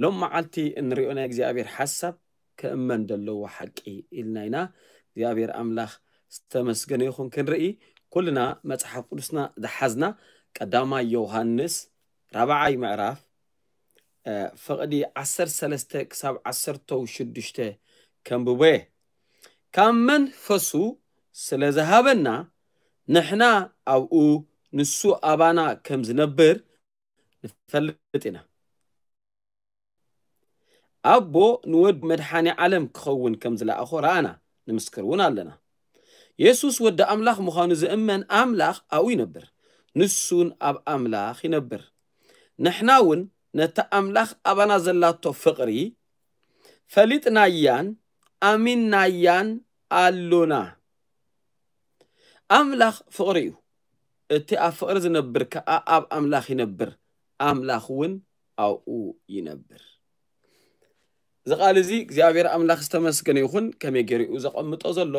ሎም መዓልቲ እንሪኦ ናይ እግዚኣብሔር ሓሳብ ክእመን ዘለዎ ሓቂ ኢልና ኢና። እግዚኣብሔር ኣምላኽ ዝተመስገነ ይኹን። ክንርኢ ኩልና መጽሓፍ ቅዱስና ዝሓዝና ቀዳማይ ዮሃንስ ራብዓይ ምዕራፍ ፍቕዲ ዓሰርተ ሰለስተ ክሳብ ዓሰርተ ሽዱሽተ ከንብቦ እየ። ካብ መንፈሱ ስለ ዝሃበና ንሕና ኣብኡ ንሱ ኣባና ከም ዝነብር ንፈልጥ ኢና። ኣቦ ንወዱ መድሓኒ ዓለም ክኸውን ከም ዝለኣኾ ረኣና፣ ንምስክር እውን ኣለና። የሱስ ወዲ ኣምላኽ ምዃኑ ዝእመን ኣምላኽ ኣብኡ ይነብር፣ ንሱን ኣብ ኣምላኽ ይነብር። ንሕና እውን ነቲ ኣምላኽ ኣባና ዘላቶ ፍቕሪ ፈሊጥናያን ኣሚንናያን ኣሎና። ኣምላኽ ፍቕሪ እዩ። እቲ ኣብ ፍቕሪ ዝነብር ከኣ ኣብ ኣምላኽ ይነብር፣ ኣምላኽ እውን ኣብኡ ይነብር። እዚ ቃል እዚ እግዚኣብሔር ኣምላኽ ዝተመስገነ ይኹን። ከመይ ገይሩ እዩ ዘቐምጦ ዘሎ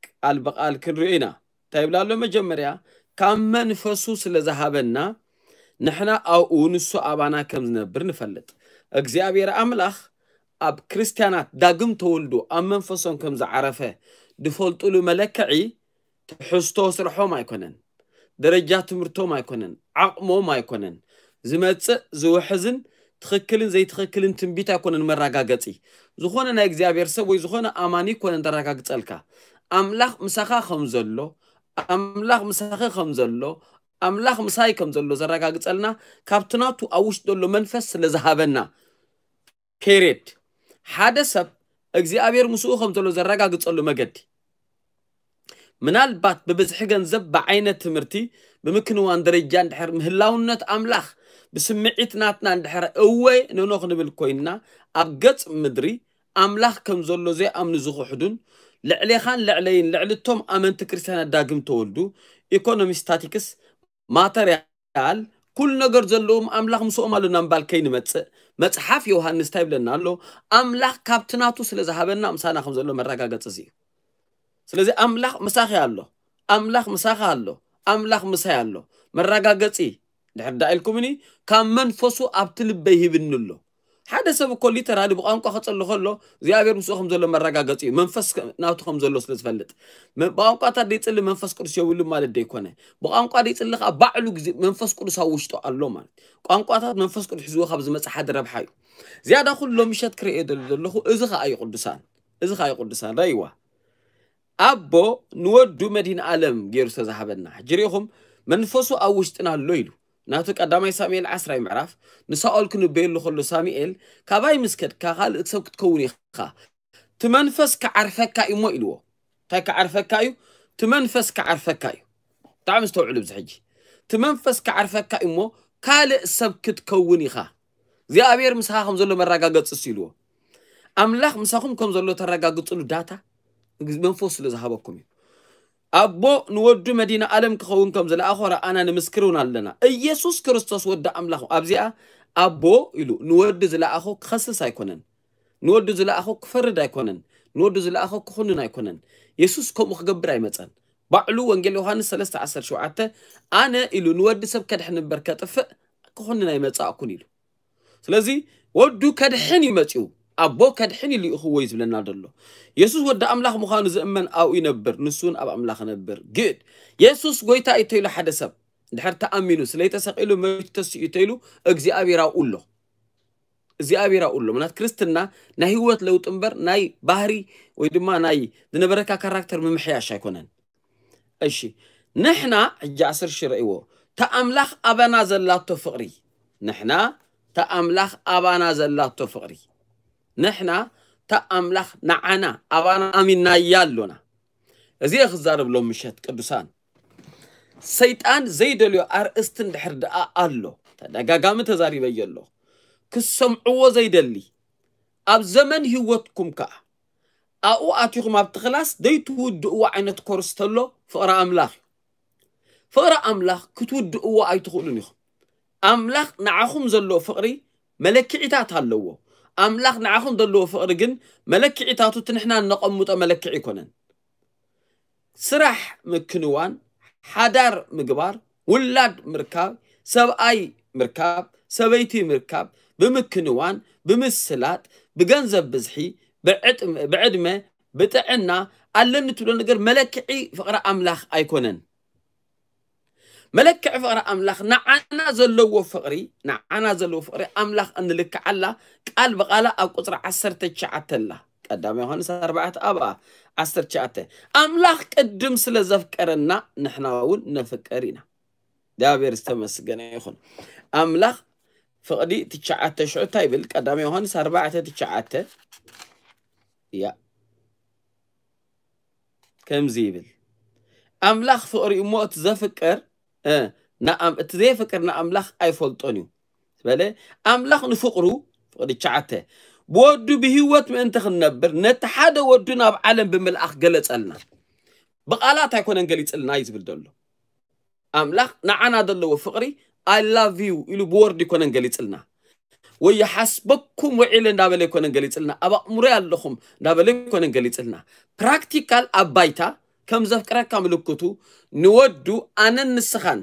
ቃል ብቃል ክንሪኦ ኢና። እንታይ ይብላ ኣሎ? መጀመርያ ካብ መንፈሱ ስለ ዝሃበና ንሕና ኣብኡ ንሱ ኣባና ከም ዝነብር ንፈልጥ። እግዚኣብሔር ኣምላኽ ኣብ ክርስትያናት ዳግም ተወልዶ ኣብ መንፈሶም ከም ዝዓረፈ ዝፈልጡሉ መለክዒ ትሕዝቶ ስርሖም ኣይኮነን፣ ደረጃ ትምህርቶም ኣይኮነን፣ ዓቕሞም ኣይኮነን። ዝመጽእ ዝውሕዝን ትኽክልን ዘይትኽክልን ትንቢት ኣይኮነን መረጋገጺ። ዝኾነ ናይ እግዚኣብሔር ሰብ ወይ ዝኾነ ኣማኒ ኣይኮነን ዘረጋግጸልካ። ኣምላኽ ምሳኻ ከም ዘሎ፣ ኣምላኽ ምሳኺ ከም ዘሎ፣ ኣምላኽ ምሳይ ከም ዘሎ ዘረጋግጸልና ካብቲ ናቱ ኣብ ውሽጢ ዘሎ መንፈስ ስለ ዝሃበና። ፔሬድ። ሓደ ሰብ እግዚኣብሔር ምስኡ ከም ዘሎ ዘረጋግጸሉ መገዲ ምናልባት ብብዝሒ ገንዘብ፣ ብዓይነት ትምህርቲ፣ ብምክንዋን ደረጃ እንድሕር ምህላውነት ኣምላኽ ብስምዒት ናትና እንድሕር እወ ኖኖ ክንብል ኮይንና ኣብ ገጽ ምድሪ ኣምላኽ ከም ዘሎ ዘይኣምኑ ዝኽሕዱን ልዕሌኻን ልዕለይን ልዕሊ እቶም ኣመንቲ ክርስትያናት ዳግም ተወልዱ ኢኮኖሚ ስታቲክስ ማተርያል ኩሉ ነገር ዘለዎም ኣምላኽ ምስኦም ኣሎ እናምባል ከይንመጽእ መጽሓፍ ዮሃንስ እንታይ ይብለና ኣሎ? ኣምላኽ ካብቲ ናቱ ስለ ዝሃበና ምሳና ከም ዘሎ መረጋገጺ እዚ እዩ። ስለዚ ኣምላኽ ምሳኺ ኣሎ፣ ኣምላኽ ምሳኻ ኣሎ፣ ኣምላኽ ምሳይ ኣሎ። መረጋገጺ ድሕር ዳ ኢልኩምኒ ካብ መንፈሱ ኣብቲ ልበይ ሂብኒ ኣሎ። ሓደ ሰብ እኮ ሊተራሊ ብቋንቋ ክጽሊ ከሎ እግዚኣብሔር ምስኡ ከም ዘሎ መረጋገጺ እዩ። መንፈስ ከ- ናቱ ከም ዘሎ ስለ ዝፈልጥ መ- ብቋንቋታት ደይጽሊ መንፈስ ቅዱስ የብሉ ማለት ደይኮነ። ብቋንቋ ደይጽሊ ከዓ ባዕሉ ግዜ መንፈስ ቅዱስ ኣብ ውሽጡ ኣሎ ማለት። ቋንቋታት መንፈስ ቅዱስ ሒዝዎ ካብ ዝመጽእ ሓደ ረብሓ እዩ። ዝያዳ ኩሉ ሎሚ ምሸት ክርእየ ደል ዘለኹ እዚ ከዓ እዩ ቅዱሳን፣ እዚ ከዓ እዩ ቅዱሳን ረይዋ። ኣቦ ንወዱ መድህን ዓለም ገይሩ ዝተዛሃበና ሕጂ ሪኢኹም መንፈሱ ኣብ ውሽጥና ኣሎ ኢሉ ናቱ ቀዳማይ ሳሙኤል ዓስራይ ምዕራፍ ንሳኦል ክንበየሉ ከሎ ሳሙኤል ካባይ ምስ ከድካ ካልእ ሰብ ክትከውን ኢኻ፣ እቲ መንፈስ ክዓርፈካ እዩ እሞ ኢልዎ። እንታይ ክዓርፈካ እዩ? እቲ መንፈስ ክዓርፈካ እዩ። ብጣዕሚ ዝተውዕሉ ብዚ ሕጂ እቲ መንፈስ ክዓርፈካ እዩ እሞ ካልእ ሰብ ክትከውን ኢኻ። እግዚኣብሔር ምሳኻ ከም ዘሎ መረጋገፂ እሱ ኢልዎ። ኣምላኽ ምሳኹም ከም ዘሎ ተረጋግፅሉ ዳታ መንፈስ ስለ ዝሃበኩም እዩ። ኣቦ ንወዱ መድህን ዓለም ክኸውን ከም ዝለኣኾ ረኣና ንምስክር እውን ኣለና። ኢየሱስ ክርስቶስ ወዲ ኣምላኽ ኣብዚኣ ኣቦ ኢሉ ንወዲ ዝለኣኾ ክኸስስ ኣይኮነን። ንወዱ ዝለኣኾ ክፈርድ ኣይኮነን። ንወዱ ዝለኣኾ ክኹንን ኣይኮነን። የሱስ ከምኡ ክገብር ኣይመፀን። ባዕሉ ወንጌል ዮሃንስ ሰለስተ ዓሰርተ ሸውዓተ ኣነ ኢሉ ንወዲ ሰብ ከድሕን እምበር ከጥፍእ ክኹንን ኣይመጻእኩን ኢሉ። ስለዚ ወዱ ከድሕን እዩ መጺኡ። ኣቦ ከድሕን እዩ ልኢኽዎ እዩ ዝብለና ዘሎ። የሱስ ወዲ ኣምላኽ ምዃኑ ዝእመን ኣብኡ ይነብር፣ ንሱ እውን ኣብ ኣምላኽ ይነብር። ግድ የሱስ ጎይታ እዩ ተይሉ ሓደ ሰብ እንድሕር ተኣሚኑ ስለይተሰቒሉ መሪቱ ተሲኡ ተይሉ እግዚኣብሔር ኣብኡ ኣሎ። እግዚኣብሔር ኣብኡ ኣሎ። ምክንያት ክርስትና ናይ ህይወት ለውጢ እምበር ናይ ባህሪ ወይ ድማ ናይ ዝነበረካ ካራክተር ምምሕያሽ ኣይኮነን። እሺ ንሕና ሕጂ ዓሰርተ ሺህ ረእይዎ። ተኣምላኽ ኣባና ዘላቶ ፍቕሪ ንሕና ተኣምላኽ ኣባና ዘላቶ ፍቕሪ ንሕና ተኣምላኽ ንዓና ኣባና ኣሚናያ ኣሎና። እዚ እየ ክዛረብ ሎም ምሸት ቅዱሳን። ሰይጣን ዘይደልዮ ኣርእስቲ እንድሕር ደኣ ኣሎ ተደጋጋሚ ተዛሪበዮ ኣሎ ክሰምዕዎ ዘይደሊ ኣብ ዘመን ህይወትኩም ከኣ ኣብኡ ኣቲኹም ኣብቲ ክላስ ዘይትውድእዎ ዓይነት ኮርስ ተሎ ፍቕሪ ኣምላኽ እዩ። ፍቕሪ ኣምላኽ ክትውድእዎ ኣይትኽእሉን ኢኹም። ኣምላኽ ንዓኹም ዘለዎ ፍቕሪ መለክዒታት ኣለዎ። ኣምላኽ ንዓኹም ዘለዎ ፍቕሪ ግን መለክዒታቱ እቲ ንሕና እነቐምጦ መለክዒ ኣይኮነን። ስራሕ ምክንዋን፣ ሓዳር ምግባር፣ ውላድ ምርካብ፣ ሰብኣይ ምርካብ፣ ሰበይቲ ምርካብ፣ ብምክንዋን፣ ብምስላጥ፣ ብገንዘብ ብዝሒ፣ ብዕጥም- ብዕድመ፣ ብጥዕና ኣለኒ ትብሎ ነገር መለክዒ ፍቕሪ ኣምላኽ ኣይኮነን። መለክዒ ፍቕሪ ኣምላኽ ንዓና ዘለዎ ፍቕሪ ንዓና ዘለዎ ፍቕሪ ኣምላኽ እንልክዓላ ቃል ብቓላ ኣብ ቁፅሪ ዓሰርተ ትሽዓተ ኣላ። ቀዳማይ ዮሃንስ ኣርባዕተ ኣብኣ ዓሰርተ ትሽዓተ ኣምላኽ ቅድም ስለ ዘፍቀረና ንሕና እውን ነፍቅር ኢና። እግዚኣብሔር ዝተመስገነ ይኹን። ኣምላኽ ፍቕዲ ትሽዓተ ሽዑ እንታይ ይብል? ቀዳማይ ዮሃንስ ኣርባዕተ ትሽዓተ እያ ከምዚ ይብል፣ ኣምላኽ ፍቕሪ እሞ እቲ ዘፍቅር እ፣ ንኣም- እቲ ዘየፍቅር ንኣምላኽ ኣይፈልጦን እዩ በለ። ኣምላኽ ንፍቕሩ ፍቕዲ ትሽዓተ ብወዱ ብህይወት ምእንቲ ክንነብር ነቲ ሓደ ወዱ ናብ ዓለም ብምልኣኽ ገለጸልና። ብቓላት ኣይኮነን ገሊጽልና እዩ ዝብል ዘሎ። ኣምላኽ ንዓና ዘለዎ ፍቕሪ I love you ኢሉ ብወርድ ኣይኮነን ገሊጽልና። ወይ ይሓስበኩም ውዒለ እንዳበለ ኣይኮነን ገሊጽልና። ኣብ ኣእምሮ ኣለኹም እንዳበለ ኣይኮነን ገሊጽልና። ፕራክቲካል ኣብ ባይታ ከም ዘፍቅረካ ምልክቱ ንወዱ ኣነን ንስኻን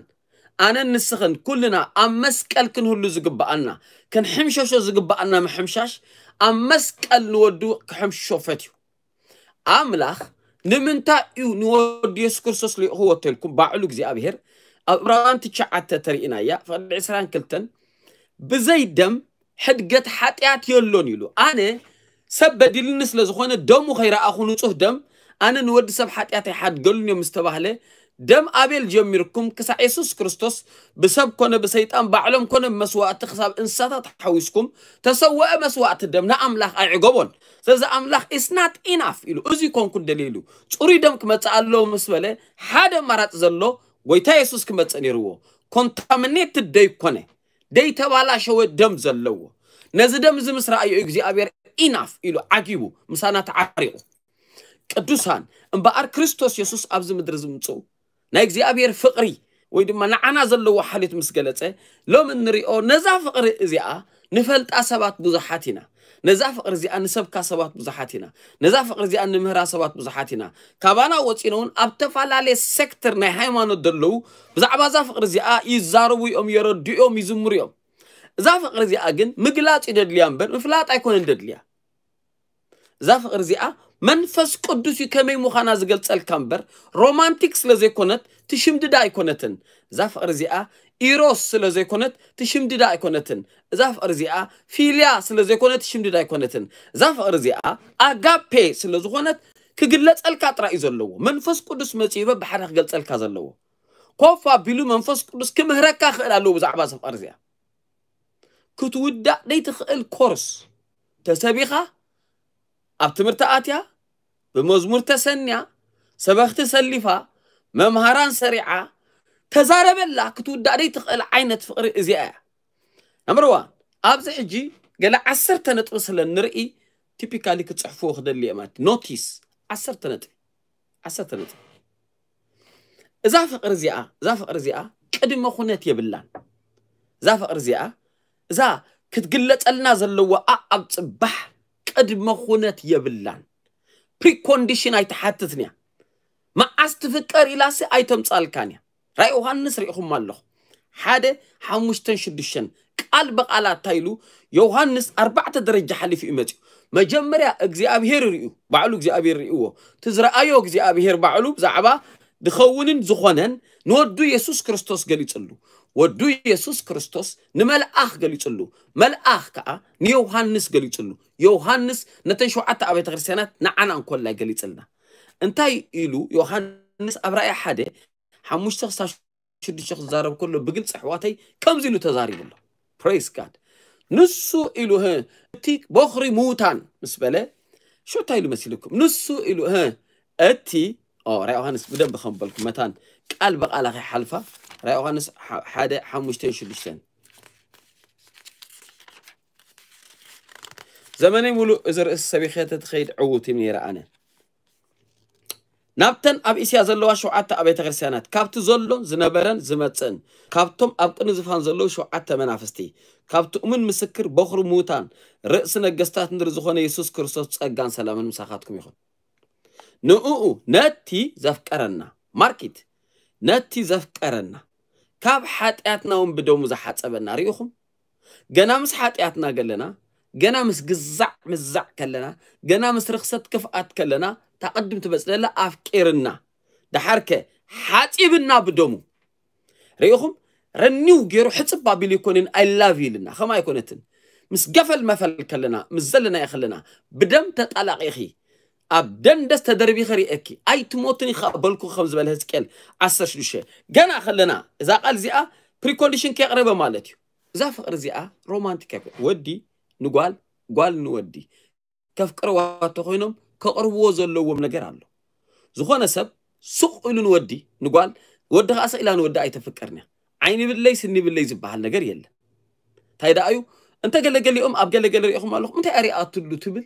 ኣነን ንስኽን ኩልና ኣብ መስቀል ክንህሉ ዝግብኣና ክንሕምሸሾ ዝግብኣና ምሕምሻሽ ኣብ መስቀል ንወዱ ክሕምሽሾ ፈትዩ። ኣምላኽ ንምንታይ እዩ ንወዱ የሱስ ክርስቶስ ልኢኽዎ ተልኩም ባዕሉ እግዚኣብሔር ኣብ ዕብራውያን ትሽዓተ ተሪኢናያ ፍቕዲ ዕስራን ክልተን ብዘይ ደም ሕድገት ሓጢኣት የሎን ኢሉ። ኣነ ሰብ በዲልኒ ስለ ዝኾነ ደሙ ከይረኣኹ ንጹህ ደም ኣነ ንወዲ ሰብ ሓጢኣት ኣይሓድገሉን እዮም ዝተባህለ ደም ኣቤል ጀሚርኩም ክሳዕ የሱስ ክርስቶስ ብሰብ ኮነ ብሰይጣን ባዕሎም ኮነ ብመስዋእቲ ክሳብ እንስሳታት ሓዊስኩም ተሰወአ መስዋእቲ ደም ንኣምላኽ ኣይዕገቦን። ስለዚ ኣምላኽ is not enough ኢሉ። እዚ ኮንኩ ደልየ ኢሉ ጽሩይ ደም ክመጽእ ኣለዎ ምስ በለ ሓደ ኣማራጺ ዘሎ ጎይታ የሱስ ክመጽእ ነይርዎ። ኮንታሚኔትድ ደይኮነ ደይተባላሸወ ደም ዘለዎ ነዚ ደም እዚ ምስ ረኣዮ እግዚኣብሔር ኢናፍ ኢሉ ዓጊቡ ምሳና ተዓሪቑ። ቅዱሳን እምበኣር ክርስቶስ የሱስ ኣብዚ ምድሪ ዝምፅኡ ናይ እግዚኣብሔር ፍቕሪ ወይ ድማ ንዓና ዘለዎ ሓልዮት ምስ ገለጸ ሎሚ እንሪኦ ነዛ ፍቕሪ እዚኣ ንፈልጣ ሰባት ብዙሓት ኢና። ነዛ ፍቕሪ እዚኣ ንሰብካ ሰባት ብዙሓት ኢና። ነዛ ፍቕሪ እዚኣ ንምህራ ሰባት ብዙሓት ኢና። ካባና ወፂኖ እውን ኣብ ተፈላለየ ሴክተር ናይ ሃይማኖት ዘለዉ ብዛዕባ እዛ ፍቕሪ እዚኣ ይዛረቡ እዮም፣ የረድኡ እዮም፣ ይዝምሩ እዮም። እዛ ፍቕሪ እዚኣ ግን ምግላፅ እዩ ደድልያ እምበር ምፍላጥ ኣይኮነን ደድልያ። እዛ ፍቕሪ እዚኣ መንፈስ ቅዱስ እዩ ከመይ ምዃና ዝገልፀልካ እምበር ሮማንቲክ ስለ ዘይኮነት ትሽምድዳ ኣይኮነትን። እዛ ፍቕሪ እዚኣ ኢሮስ ስለ ዘይኮነት ትሽምድዳ ኣይኮነትን። እዛ ፍቕሪ እዚኣ ፊልያ ስለ ዘይኮነት ትሽምድዳ ኣይኮነትን። እዛ ፍቕሪ እዚኣ ኣጋፔ ስለ ዝኾነት ክግለፀልካ ጥራይ እዩ ዘለዎ። መንፈስ ቅዱስ መፂኡ በብሓደ ክገልፀልካ ዘለዎ። ኮፍ ኣቢሉ መንፈስ ቅዱስ ክምህረካ ክእል ኣለዎ ብዛዕባ እዛ ፍቕሪ እዚኣ። ክትውዳእ ደይትኽእል ኮርስ ተሰቢኻ ኣብ ትምህርቲ ኣትያ ብመዝሙር ተሰንያ ሰበኽቲ ሰሊፋ መምሃራን ሰሪዓ ተዛረበላ ክትውዳእ ደይትኽእል ዓይነት ፍቕሪ እዚኣ እያ። ነምበር ዋን ኣብዚ ሕጂ ገለ ዓሰርተ ነጥቢ ስለ ንርኢ ቲፒካሊ ክፅሕፍዎ ክደሊ እየ ማለት ኖቲስ ዓሰርተ ነጥቢ ዓሰርተ ነጥቢ እዛ ፍቕሪ እዚኣ እዛ ፍቕሪ እዚኣ ቅድመ ኩነት የብላን። እዛ ፍቕሪ እዚኣ እዛ ክትግለጸልና ዘለዎ ኣኣብ ጽባሕ ቅድመ ኩነት የብላን። ፕሪኮንዲሽን ኣይትሓትትን እያ። መዓስ ትፍቀር ኢላሲ ኣይተምጻልካን እያ። ራእይ ዮሃንስ ርኢኹም ኣለኹ ሓደ ሓሙሽተን ሽዱሽተን ቃል ብቓላት እንታይ ኢሉ ዮሃንስ ኣርባዕተ ደረጃ ሓሊፉ እዩ መፅኡ። መጀመርያ እግዚኣብሄር ርእዩ ባዕሉ እግዚኣብሄር ርእይዎ እቲ ዝረኣዮ እግዚኣብሄር ባዕሉ ብዛዕባ ዝኸውንን ዝኾነን ንወዱ የሱስ ክርስቶስ ገሊፅሉ። ወዱ የሱስ ክርስቶስ ንመልኣኽ ገሊፅሉ። መልኣኽ ከዓ ንዮሃንስ ገሊፅሉ። ዮሃንስ ነተን ሸውዓተ ኣብያተ ክርስቲያናት ንዓና እንኮላይ ገሊፅልና። እንታይ ኢሉ ዮሃንስ ኣብ ራእይ ሓደ ሓሙሽተ ክሳብ ሽዱሽተ ክዛረብ ከሎ ብግልፂ ኣሕዋተይ ከምዚ ኢሉ ተዛሪቡ ኣሎ። ፕሬስ ጋድ ንሱ ኢሉ ህ እቲ ቦኽሪ ምዉታን ምስ በለ ሽታ ኢሉ መሲልኩም ንሱ ኢሉ ህ እቲ ራይ ዮሃንስ ብደንብ ከም በልኩ መታን ቃል ብቃላ ከይሓልፋ ራይ ዮሃንስ ሓደ ሓሙሽተን ሽዱሽተን ዘመነይ ሙሉእ እዚ ርእሲ ሰቢኸ ተትኸይድ ዕዉት እዩ ነይረ ኣነ ናብተን ኣብ እስያ ዘለዋ ሸውዓተ ኣብያተ ክርስትያናት ካብቲ ዘሎን ዝነበረን ዝመጽእን ካብቶም ኣብ ቅድሚ ዝፋን ዘለዉ ሸውዓተ መናፍስቲ ካብቲ እሙን ምስክር በኹሪ ምዉታን ርእሲ ነገስታት ምድሪ ዝኾነ የሱስ ክርስቶስ ጸጋን ሰላምን ምሳኻትኩም ይኹን። ንእኡ ነቲ ዘፍቀረና ማርኪት ነቲ ዘፍቀረና ካብ ሓጢኣትና እውን ብደሙ ዝሓጸበና ርኢኹም ገና ምስ ሓጢኣትና ገለና፣ ገና ምስ ግዛዕ ምዛዕ ከለና፣ ገና ምስ ርኽሰት ክፍኣት ከለና፣ እታ ቅድም ትመጽእ ዘላ ኣፍቂርና፣ ደሓርከ ሓጺብና ብደሙ። ርኢኹም፣ ረኒው ገይሩ ሕጽብ ኣቢሉ ይኮንን፣ I love you ኢልና። ከም ኣይኮነትን። ምስ ገፈል መፈል ከለና፣ ምስ ዘለናዮ ከለና፣ ብደም ተጣላቒኺ፣ ኣብ ደንደስ ተደርቢኺ ርእየኪ ኣይትሞትን ኢኻ በልኩ፣ ከም ዝበለ ህዝቅኤል ዓሰርተ ሽዱሽተ። ገና ከለና፣ እዛ ቃል እዚኣ ፕሪኮንዲሽን ከየቕረበ ማለት እዩ። እዛ ፍቕሪ እዚኣ ሮማንቲክ ኣይኮ-፣ ወዲ ንጓል፣ ጓል ንወዲ ከፍቅርዋ እንተኾይኖም ከቕርብዎ ዘለዎም ነገር ኣሎ። ዝኾነ ሰብ ሱቕ ኢሉ ንወዲ ንጓል፣ ወዲ ኸዓ ስቕ ኢላ ንወዲ ኣይተፍቅርን እያ። ዓይኒ ብለይ ስኒ ብለይ ዝበሃል ነገር የለን። እንታይ ደኣ እዩ? እንተ ገለገሊኦም ኣብ ገለገለ ሪኢኹም ኣለኹም፣ እንታይ እያ ሪኣትሉ ትብል፣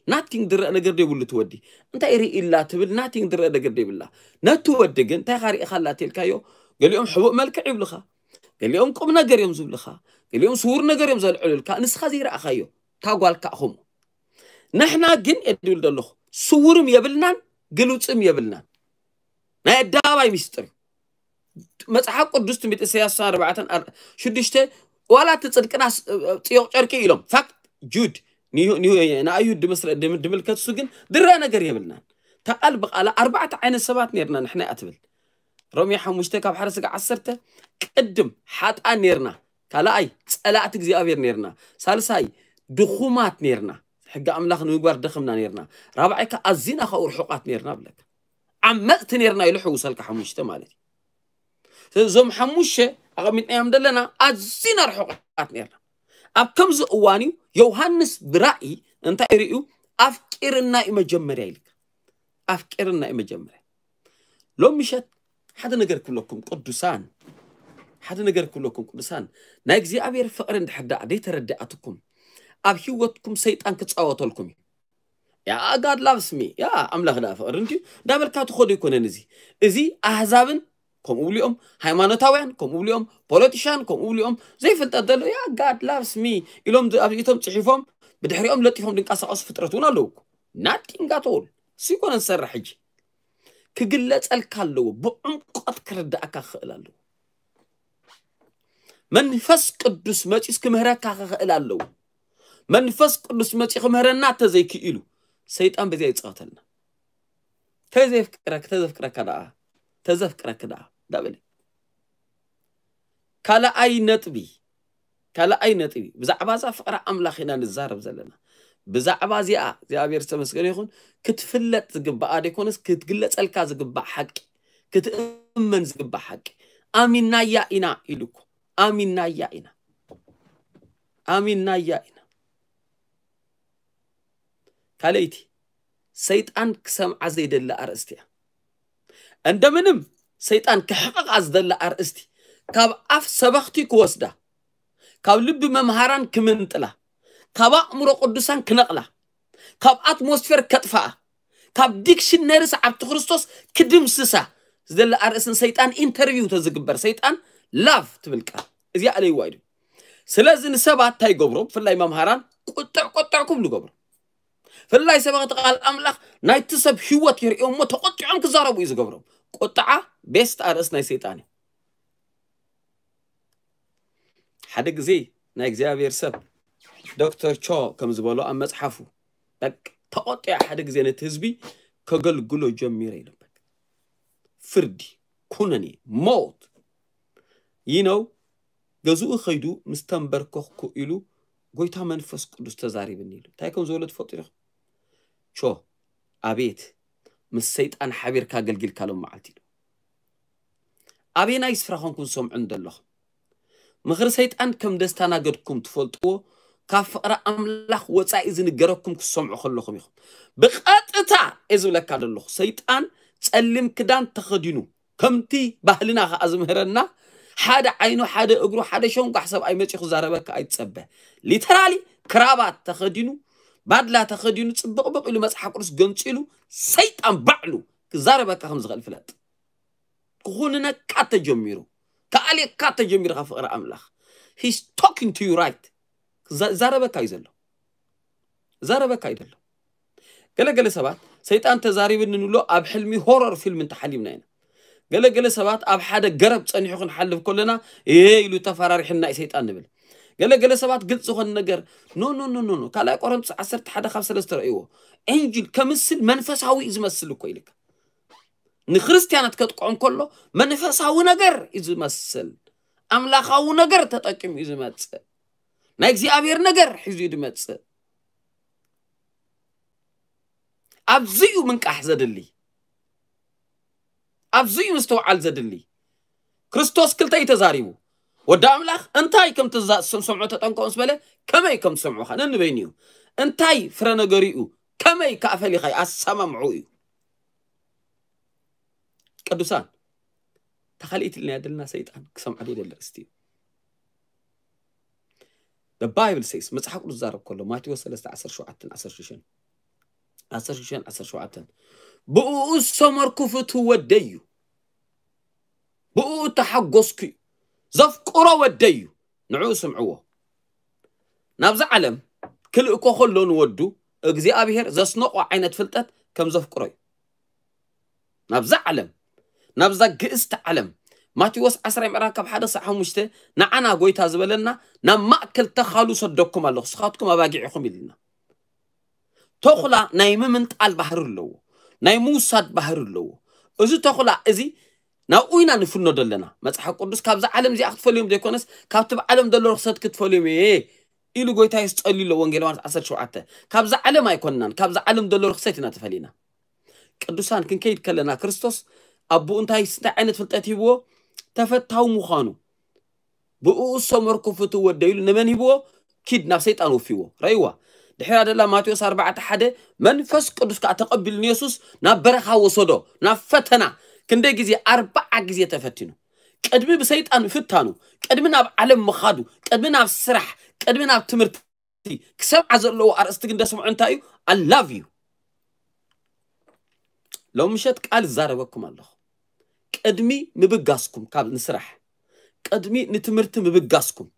ናቲንግ ዝረአ ነገር ደይብሉ እቲ ወዲ። እንታይ ርኢ ኢላ ትብል፣ ናቲንግ ዝረአ ነገር ደይብላ። ነቲ ወዲ ግን እንታይ ኢኻ ሪኢኻላ ተልካዮ፣ ገሊኦም ሕቡእ መልክዕ ይብልኻ፣ ገሊኦም ቁም ነገር እዮም ዝብልኻ፣ ገሊኦም ስውር ነገር እዮም ዘልዕሉልካ፣ ንስኻ ዘይረኣኻዮ፣ እታ ጓል ከኣ ከምኡ። ንሕና ግን እየ ድብል ዘለኹ፣ ስውርም የብልናን ግሉጽም የብልናን። ናይ ኣደባባይ ሚስጥር እዩ። መጽሓፍ ቅዱስ ትንቢት ኢሳያስ ኣርባዕተ ኣር-፣ ሽዱሽተ፣ ዋላ እቲ ጽድቅና ስ-፣ ጽዮቕ ጨርቂ ኢሎም፣ ፋክት ጁድ ንዩ-፣ ንዩ-፣ ንኣይሁድ ድምስረ-፣ ድም-፣ ድምልከት እሱ ግን ድረ ነገር የብልናን። እታ ቃል ብቓላ ኣርባዕተ ዓይነት ሰባት ነርና ንሕና እያ ትብል። ሮሜ ሓሙሽተ ካብ ሓደ ስጋ ዓሰርተ፣ ቅድም ሓጥኣን ነርና፣ ካልኣይ ጸላእቲ እግዚኣብሔር ነርና፣ ሳልሳይ ድኹማት ነርና፣ ሕጊ ኣምላኽ ንምግባር ደኽምና ነርና፣ ራብዓይ ከኣ ኣዚና ካብኡ ርሑቓት ነርና ብለካ። ዓመጽቲ ነርና ኢሉ ሕውሰልካ ሓሙሽተ ማለት እዩ። ስለዚ እዞም ሓሙሽተ ኣቐሚጥናዮም ዘለና ኣዚና ርሑቓት ነርና። ኣብ ከምዚ እዋን እዩ ዮሃንስ ብራእይ እንታይ ርእዩ? ኣፍቂርና እዩ መጀመርያ ኢልካ። ኣፍቂርና እዩ መጀመርያ። ሎም ምሸት ሓደ ነገር ክብለኩም ቅዱሳን፣ ሓደ ነገር ክብለኩም ቅዱሳን፣ ናይ እግዚኣብሔር ፍቕሪ እንድሕር ደኣ ዘይተረድኣትኩም፣ ኣብ ህይወትኩም ሰይጣን ክጻወተልኩም እዩ። ያ፣ God loves me፣ ያ፣ ኣምላኽ ደኣ ፍቕሪ እንድዩ እንዳበልካ ትኸዶ ኣይኮነን። እዚ፣ እዚ ኣህዛብን ከምኡ ብሊኦም፣ ሃይማኖታውያን ከምኡ ብሊኦም፣ ፖለቲሻን ከምኡ ብሊኦም፣ ዘይፍልጠት ዘሎ፣ ያ፣ God loves me ኢሎም ዝ-፣ ኣብ ኢቶም ጽሒፎም፣ ብድሕሪኦም ለጢፎም ድንቀሳቐሱ ፍጥረት እውን ኣለዉ እኮ። Nothing at all። እሱ ይኮነ ዝሰርሕ ሕጂ። ክግለጸልካ ኣለዎ፣ ብዕምቆት ክርዳእካ ክኽእል ኣለዎ። መንፈስ ቅዱስ መጺኡስ ክምህረካ ክኽእል ኣለዎ። መንፈስ ቅዱስ መጺኡ ክምህረና ተዘይክኢሉ፣ ሰይጣን በዚኣ ይጻወተልና። ተዘፍቅረክ-፣ ተዘፍቅረካ ደኣ፣ ተዘፍቅረክ ደኣ፣ እንዳበለ። ካልኣይ ነጥቢ፣ ካልኣይ ነጥቢ፣ ብዛዕባ እዛ ፍቕሪ ኣምላኽ ኢና ንዛረብ ዘለና። ብዛዕባ እዚኣ እግዚኣብሔር ዝተመስገነ ይኹን፣ ክትፍለጥ ዝግባኣ ደይኮነስ፣ ክትግለጸልካ ዝግባእ ሓቂ፣ ክትእመን ዝግባእ ሓቂ። ኣሚናያ ኢና ኢሉ እኮ። ኣሚናያ ኢና። ኣሚናያ ኢና። ካልኣይቲ፣ ሰይጣን ክሰምዓ ዘይደሊ ኣርእስቲ እያ። እንደምንም ሰይጣን ክሕቕቓ ዝደሊ ኣርእስቲ፣ ካብ ኣፍ ሰበኽቲ ክወስዳ፣ ካብ ልቢ መምሃራን ክምንጥላ፣ ካብ ኣእምሮ ቅዱሳን ክነቕላ፣ ካብ ኣትሞስፌር ከጥፍኣ፣ ካብ ዲክሽነሪ ሰዓብቲ ክርስቶስ ክድምስሳ ዝደሊ ኣርእስቲ ንሰይጣን ኢንተርቪው ተዝግበር፣ ሰይጣን ላቭ ትብል ቃል እዚኣ ኣለይዋ ኢሉ። ስለዚ ንሰባት እንታይ ይገብሮም? ብፍላይ መምሃራን ቁጥዕ ቁጥዕ ክብሉ ይገብሮም። ብፍላይ ሰበኽቲ ቃል ኣምላኽ ናይቲ ሰብ ህይወት ይርእዮ እሞ ተቆጢዖም ክዛረቡ እዩ ዝገብሮም። ቁጥዓ ቤስት ኣርእስቲ ናይ ሰይጣን እዩ። ሓደ ግዜ ናይ እግዚኣብሔር ሰብ ዶክተር ቾ ከም ዝበሎ ኣብ መጽሓፉ፣ በቃ ተቆጢዐ ሓደ ግዜ ነቲ ህዝቢ ከገልግሎ ጀሚረ ኢሉ። በቃ ፍርዲ፣ ኩነኔ፣ ሞት። ይነው ገዝኡ ከይዱ ምስ ተንበርከኽኩ ኢሉ ጎይታ መንፈስ ቅዱስ ተዛሪብኒ ኢሉ። እንታይ ከም ዝበሎ ትፈልጡ ዲኹም? ቾ፣ ኣቤት፣ ምስ ሰይጣን ሓቢርካ ኣገልጊልካ ሎም መዓልቲ ኢሉ። ኣበየናይ ስፍራ ኮንኩም ዝሰምዑ እንደለኹም? ምኽሪ ሰይጣን ከም ደስታናገድኩም ትፈልጥዎ፣ ካብ ፍቕሪ ኣምላኽ ወጻኢ ዝንገረኩም ክትሰምዑ ከለኹም ኢኹም። ብቐጥታ እየ ዝብለካ ዘለኹ፣ ሰይጣን ጸሊም ክዳን ተኸዲኑ፣ ከምቲ ባህልና ኸኣ ዝምህረና፣ ሓደ ዓይኑ፣ ሓደ እግሩ፣ ሓደ ሸንጓሕ ሰብኣይ መጺኡ ክዛረበካ ኣይትጸበ። ሊተራሊ ክራባት ተኸዲኑ፣ ባድላ ተኸዲኑ፣ ጽብቕብቕ ኢሉ መጽሓፍ ቅዱስ ገንጺሉ፣ ሰይጣን ባዕሉ ክዛረበካ ከም ዝኽእል ፍለጥ። ክኹንነካ ተጀሚሩ፣ ክኣልየካ ተጀሚሩ ካብ ፍቕሪ ኣምላኽ። He's talking to you right። ክዛ-፣ ዛረበካ እዩ ዘሎ። ዛረበካ እዩ ዘሎ። ገለገለ ሰባት ሰይጣን ተዛሪብኒ ንብሎ ኣብ ሕልሚ ሆረር ፊልም እንተሓሊምና ኢና። ገለገለ ሰባት ኣብ ሓደ ገረብ ጸኒሑ ክንሓልፍ ከለና፣ "እየ" ኢሉ ተፈራሪሕና እዩ ሰይጣን ንብል። ገለ ገለ ሰባት ግልጽ ዝኾነ ነገር፣ ኖ ኖ ኖ ኖ ኖ ካልኣይ ቆሮንቶስ ዓሰርተ ሓደ ካብ ሰለስተ ረእይዎ። ኤንጅል ከምስል መንፈሳዊ እዩ ዝመስል እኮ ኢልካ። ንክርስትያናት ከጥቅዖም ከሎ መንፈሳዊ ነገር እዩ ዝመስል። ኣምላኻዊ ነገር ተጠቂሙ እዩ ዝመጽእ። ናይ እግዚኣብሔር ነገር ሒዙ እዩ ዝመጽእ። ኣብዚ እዩ ምንቃሕ ዘድሊ። ኣብዚ እዩ ምስትውዓል ዘድሊ። ክርስቶስ ክልተ እዩ ተዛሪቡ። ወዲ ኣምላኽ እንታይ ከም ትዛ-፣ ሰምዖ ተጠንቀቑ ምስ በለ ከመይ ከም ትሰምዑ ኸ ነንበይኑ እዩ። እንታይ ፍረ ነገሩ እዩ፣ ከመይ ከኣ ፈሊኻ ኣሰማምዑ እዩ። ቅዱሳን፣ ተኻሊእት ኢልና ያደልና ሰይጣን ክሰምዖ ዘይደሊ ኣርእስቲ እዩ። The Bible says፣ መጽሓፍ ቅዱስ ዛረብ ከሎ ማቴዎስ ሰለስተ ዓሰርተ ሸውዓተ ዓሰርተ ሽዱሽተ ዓሰርተ ሽዱሽተ ዓሰርተ ሸውዓተ፣ ብእኡ ዝሰመርኩ ፍትው ወደይ እዩ፣ ብእኡ እተሓጎስኩ እዩ፣ ዘፍቅሮ ወደይ እዩ፣ ንዕኡ ስምዕዎ። ናብዛ ዓለም ክልእኮ ከሎ ንወዱ እግዚኣብሔር ዘስነቆ ዓይነት ፍልጠት ከም ዘፍቅሮ እዩ። ናብዛ ዓለም፣ ናብዛ ግእስቲ ዓለም፣ ማቴዎስ ዓስራ ምዕራፍ ካብ ሓደ ክሳብ ሓሙሽተ ንዓና ጎይታ ዝበለና፣ ናብ ማእከል ተኻሉ ሰደኩም ኣለኹ፣ ንስኻትኩም ኣባጊዕ ኢኹም ኢልና። ተኹላ ናይ ምምንጣል ባህሪ ኣለዎ፣ ናይ ምውሳድ ባህሪ ኣለዎ። እዚ ተኹላ እዚ ናብኡ ኢና ንፍኖ ዘለና። መጽሓፍ ቅዱስ ካብዛ ዓለም እዚኣ ክትፈልዮም ዘይኮነስ፣ ካብቲ ብዓለም ዘሎ ርኽሰት ክትፈልዮም እየ ኢሉ ጎይታ የሱስ ጸልዩ ኣሎ። ወንጌል ዮሃንስ ዓሰርተ ሸውዓተ። ካብዛ ዓለም ኣይኮንናን፣ ካብዛ ዓለም ዘሎ ርኽሰት ኢና ተፈሊና። ቅዱሳን፣ ክንከይድ ከለና ክርስቶስ ኣቦኡ እንታይ እንታይ ዓይነት ፍልጠት ሂብዎ? ተፈታዊ ምዃኑ። ብእኡ ዝሰመርኩ ፍትው ወደይ ኢሉ ንመን ሂብዎ? ኪድ ናብ ሰይጣን ወፊዎ። ረእይዋ። ድሕራ ደላ ማቴዎስ ኣርባዕተ ሓደ፣ መንፈስ ቅዱስ ከኣ ተቐቢሉ ንየሱስ ናብ በረኻ ወሰዶ፣ ናብ ፈተና። ክንደይ ግዜ? ኣርብዓ ግዜ ተፈቲኑ። ቅድሚ ብሰይጣን ምፍታኑ፣ ቅድሚ ናብ ዓለም ምኻዱ፣ ቅድሚ ናብ ስራሕ፣ ቅድሚ ናብ ትምህርቲ፣ ክሰምዓ ዘለዎ ኣርእስቲ ግን ደስምዑ እንታይ እዩ? I love you። ሎም ምሸት ቃል እዛረበኩም ኣለኹ። ቅድሚ ምብጋስኩም ካብ ንስራሕ፣ ቅድሚ ንትምህርቲ ምብጋስኩም፣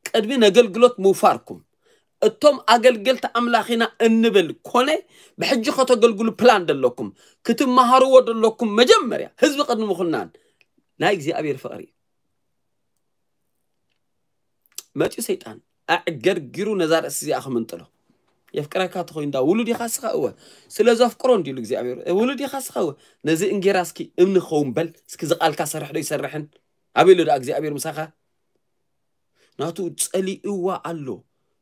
ቅድሚ ነገልግሎት ምውፋርኩም፣ እቶም ኣገልገልቲ ኣምላኽ ኢና እንብል ኮነ ብሕጂ ከተገልግሉ ፕላን ደለኩም፣ ክትመሃርዎ ደለኩም፣ መጀመርያ ህዝቢ ቅድሚ ምኹናን ናይ እግዚኣብሔር ፍቕሪ እዩ። መጺኡ ሰይጣን ኣዕገርጊሩ ነዛ ርእሲ እዚኣ ክምንጥሎ። የፍቅረካ ተኾይኑ እንዳ ውሉድ ኢኻ እስኻ? እወ። ስለ ዘፍቅሮ እንዲሉ እግዚኣብሔር፣ "እ፣ ውሉድ ኢኻ እስኻ?" እወ። "ነዚ እንጌራ እስኪ እምኒ ክኸውን በል፣ እስኪ እዚ ቃልካ ሰርሕ ዶ ይሰርሕን?" ኣበይ ኣሎ ደኣ እግዚኣብሔር ምሳኻ? ናቱ ጸሊእዋ ኣሎ።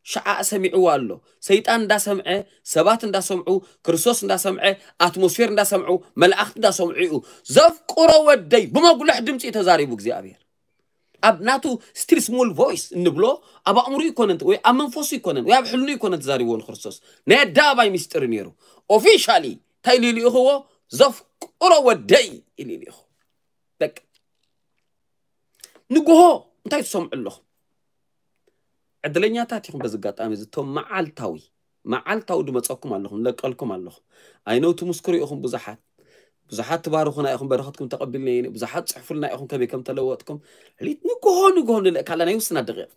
ሸዓ ሰሚዕዋ ኣሎ። ሰይጣን እንዳሰምዐ፣ ሰባት እንዳሰምዑ፣ ክርስቶስ እንዳሰምዐ፣ ኣትሞስፌር እንዳሰምዑ፣ መላእኽቲ እንዳሰምዑ እዩ። "ዘፍቅሮ ወደይ" ብመጉልሕ ድምፂ እዩ ተዛሪቡ እግዚኣብሔር። ኣብ ናቱ ስቲል ስሞል ቮይስ እንብሎ፣ ኣብ ኣእምሮ ይኮነን ወይ ኣብ መንፈሱ ይኮነን ወይ ኣብ ሕልኑ ይኮነን ተዛሪብዎ ንክርስቶስ። ናይ ኣደባባይ ሚስጥር ነይሩ። ኦፊሻሊ እንታይ ኢሉ ይልእኽዎ? "ዘፍቅሮ ወደይ" ኢሉ ይልእኽዎ። በቃ። ንግሆ እንታይ ትሰምዑ ኣለኹም? ዕድለኛታት ኢኹም። በዚ ኣጋጣሚ እዚ እቶም መዓልታዊ፣ መዓልታዊ ድመፀኩም ኣለኹም፣ ለቀልኩም ኣለኹም። ኣይነው ትምስክሩ ኢኹም ብዙሓት። ብዙሓት ትባርኹና ኢኹም፣ በረኸትኩም ተቐቢልና ኢና። ብዙሓት ጽሕፉልና ኢኹም ከመይ ከም ተለወጥኩም። ሊት ንግሆ ንግሆ ንልእካላ ናይ ውስና ደቂቕ።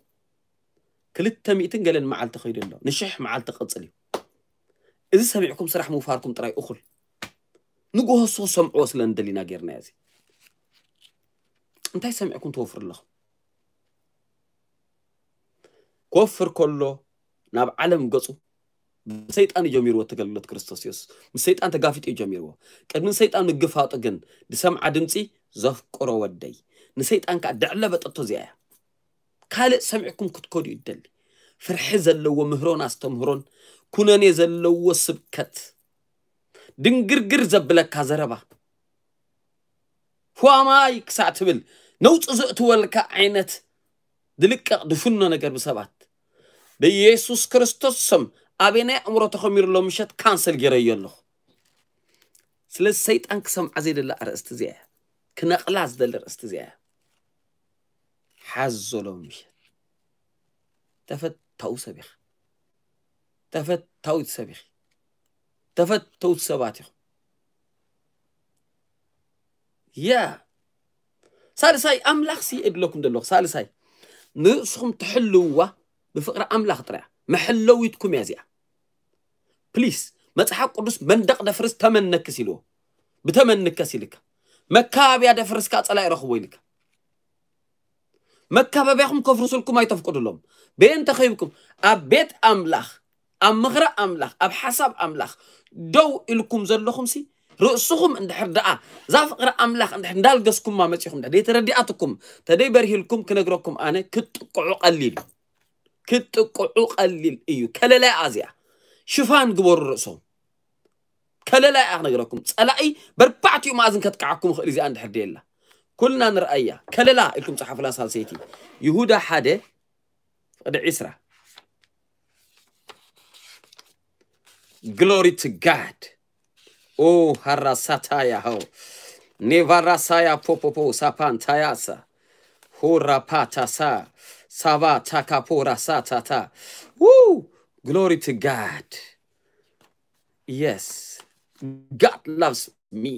ክልተ ሚእትን ገለን መዓልቲ ከይዱ ኣሎ። ንሽሕ መዓልቲ ክቕጽል እዩ። እዚ ሰሚዕኩም ስራሕ ምውፋርኩም ጥራይ እኹል። ንግሆ እሱ ክሰምዕዎ ስለ እንደሊና ጌርና እዚ። እንታይ ሰሚዕኩም ትወፍሩ ኣለኹም? ክወፍር ከሎ ናብ ዓለም ገጹ ብሰይጣን እዩ ጀሚርዎ። እቲ ኣገልግሎት ክርስቶስ የሱስ ምስ ሰይጣን ተጋፊጡ እዩ ጀሚርዎ። ቅድሚ ሰይጣን ምግፋጡ ግን ዝሰምዓ ድምፂ፣ "ዘፍቅሮ ወደይ"። ንሰይጣን ከዓ ድዕለ በጠቶ እዚኣ እያ። ካልእ ሰሚዕኩም ክትከዱ ይደሊ። ፍርሒ ዘለዎ ምህሮን ኣስተምህሮን፣ ኩነኔ ዘለዎ ስብከት፣ ድንግርግር ዘብለካ ዘረባ፣ ፏማይ ክሳዕ ትብል ነውፂ ዘእትወልካ ዓይነት ድልቀቕ ድፍኖ ነገር ብሰባት፣ ብኢየሱስ ክርስቶስ ስም ኣበይ ናይ ኣእምሮ ተኸሚሩ ኣሎ ምሸት ካንሰል ገይረዮ ኣለኹ። ስለዚ ሰይጣን ክሰምዓ ዘይደሊ ኣርእስቲ እዚኣ እያ። ክነቕላ ዝደሊ ኣርእስቲ እዚኣ እያ። ሓዞ ሎም ምሸት። ተፈታዊ ሰብ ኢኻ። ተፈታዊት ሰብ ኢኺ። ተፈተውቲ ሰባት ኢኹም። ያ። ሳልሳይ፣ ኣምላኽ ሲ እድለኩም ዘለኹ። ሳልሳይ፣ ንርእስኹም ትሕልውዋ ብፍቕሪ ኣምላኽ ጥራይ። መሐለዊትኩም እያ እዚኣ። ፕሊስ፣ መጽሓፍ ቅዱስ መንደቕ ደፍርስ ተመነክስ ኢልዎ። ብተመንከስ ኢልካ። መካብያ ደፍርስ ከኣ ጸላኢ ረኽቦ ኢልካ። መካበቢያኹም ከፍርስልኩም ኣይተፍቅዱሎም። በየን ተኸይብኩም ኣብ ቤት ኣምላኽ፣ ኣብ ምኽሪ ኣምላኽ፣ ኣብ ሓሳብ ኣምላኽ ደው ኢልኩም ዘለኹምሲ፣ ርእስኹም እንድሕር ደኣ እዛ ፍቕሪ ኣምላኽ እንድሕር እንዳልገስኩማ መጺኹም፣ እንድሕር ደይተረዲኣትኩም፣ ተደይ በርሂልኩም ክነግረኩም ኣነ፣ ክትጥቅዑ ቀሊል እዩ። ክትጥቅዑ ቀሊል እዩ። ከለላ እያ እዚኣ። ሽፋን ግበሩ ርእሶም። ከለላ እያ ክነግረኩም። ጸላኢ በርባዕቲኡ መኣዝን ከጥቅዓኩም ይኽእል እዚኣ እንድሕር ደየላ። ኩልና ንርኣያ። ከለላ ኢልኩም ጸሓፉላ ሳልሰይቲ። ይሁዳ ሓደ ፍቕዲ ዕስራ። Glory to God. ኦ ሃራሳታያ ሆ። ኔቫራሳያ ፖፖፖ ሳፓንታያሳ። ሆራፓታሳ። ሳባ ታካፖ ራሳታታ። Woo! Glory to God. Yes. God loves me.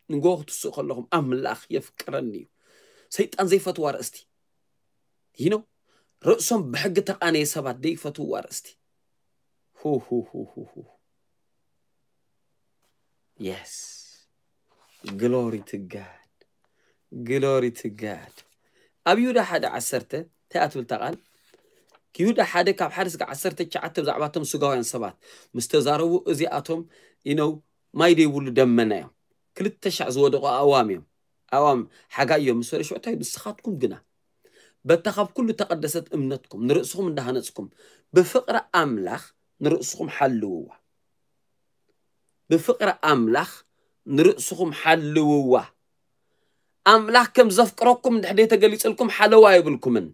ንጎ ክትስኡ ከለኹም ኣምላኽ የፍቅረኒ እዩ። ሰይጣን ዘይፈትዋ ኣርእስቲ። You know? ርእሶም ብሕጊ ተቓነየ ሰባት ዘይፈትውዋ ኣርእስቲ። ሁ ሁ ሁ ሁ ሁ። Yes. Glory to God. Glory to God. ኣብ ይሁዳ ሓደ ዓሰርተ እንታይ እያ ትብል እታ ቃል? ይሁዳ ሓደ ካብ ሓደ ስጋ ዓሰርተ ትሽዓተ ብዛዕባ እቶም ስጋውያን ሰባት ምስ ተዛረቡ፣ እዚኣቶም you know ማይ ዘይብሉ ደመና እዮም። ክልተ ሻዕ ዝወደቑ ኣእዋም እዮም። ኣእዋም ሓጋይ እዮም ምስ በለ ሽዑ እንታይ? ንስኻትኩም ግና በታ ካብ ኩሉ ተቐደሰት እምነትኩም ንርእስኹም እንዳሃነጽኩም ብፍቕሪ ኣምላኽ ንርእስኹም ሓልውዋ። ብፍቕሪ ኣምላኽ ንርእስኹም ሓልውዋ። ኣምላኽ ከም ዘፍቅረኩም እንድሕር ተገሊጽልኩም ሓለዋ የብልኩምን።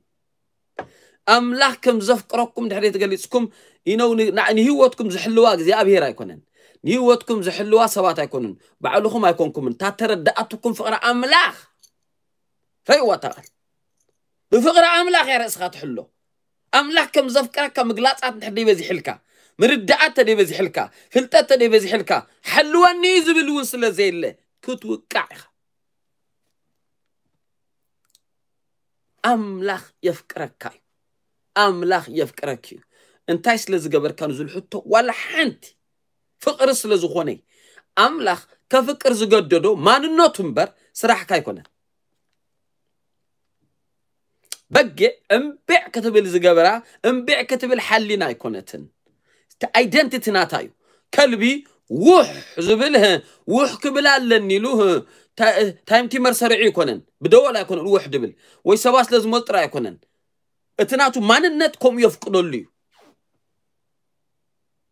ኣምላኽ ከም ዘፍቅረኩም እንድሕር ተገሊጽኩም you know ን-፣ ን-፣ ንህይወትኩም ዝሕልዋ እግዚኣብሔር ኣይኮነን። ንህይወትኩም ዝሕልዋ ሰባት ኣይኮኑን። ባዕልኹም ኣይኮንኩምን። እታ ተረዳኣትኩም ፍቕሪ ኣምላኽ ረእይዋ እታ ቃል። ብፍቕሪ ኣምላኽ እያ ርእስኻ ትሕሎ። ኣምላኽ ከም ዘፍቅረካ ምግላጻት እንድሕር ደይበዚሕልካ፣ ምርዳኣት ተደይበዚሕልካ፣ ፍልጠት ተደይበዚሕልካ፣ ሓልወኒ ዝብል እውን ስለ ዘየለ ክትውቃዕ ኢኻ። ኣምላኽ የፍቅረካ እዩ። ኣምላኽ የፍቅረኪ እዩ። እንታይ ስለ ዝገበርካ ንዝብል ሕቶ ዋላ ሓንቲ ፍቕሪ ስለ ዝኾነ ኣምላኽ ከፍቅር ዝገደዶ ማንነቱ እምበር ስራሕካ ኣይኮነን። በጊዕ እምቢዕ ክትብል ዝገበራ እምቢዕ ክትብል ሓሊና ኣይኮነትን። እቲ ኣይደንቲቲ ናታ እዩ። ከልቢ ውሕ ዝብል፣ ህ፣ ውሕ ክብል ኣለኒ ኢሉ፣ ህ፣ ታ-፣ ታይምቲመር ሰሪዑ ኣይኮነን፣ ብደወል ኣይኮነን ውሕ ድብል፣ ወይ ሰባት ስለ ዝመጡ ጥራይ ኣይኮነን። እቲ ናቱ ማንነት ከምኡ የፍቅደሉ እዩ።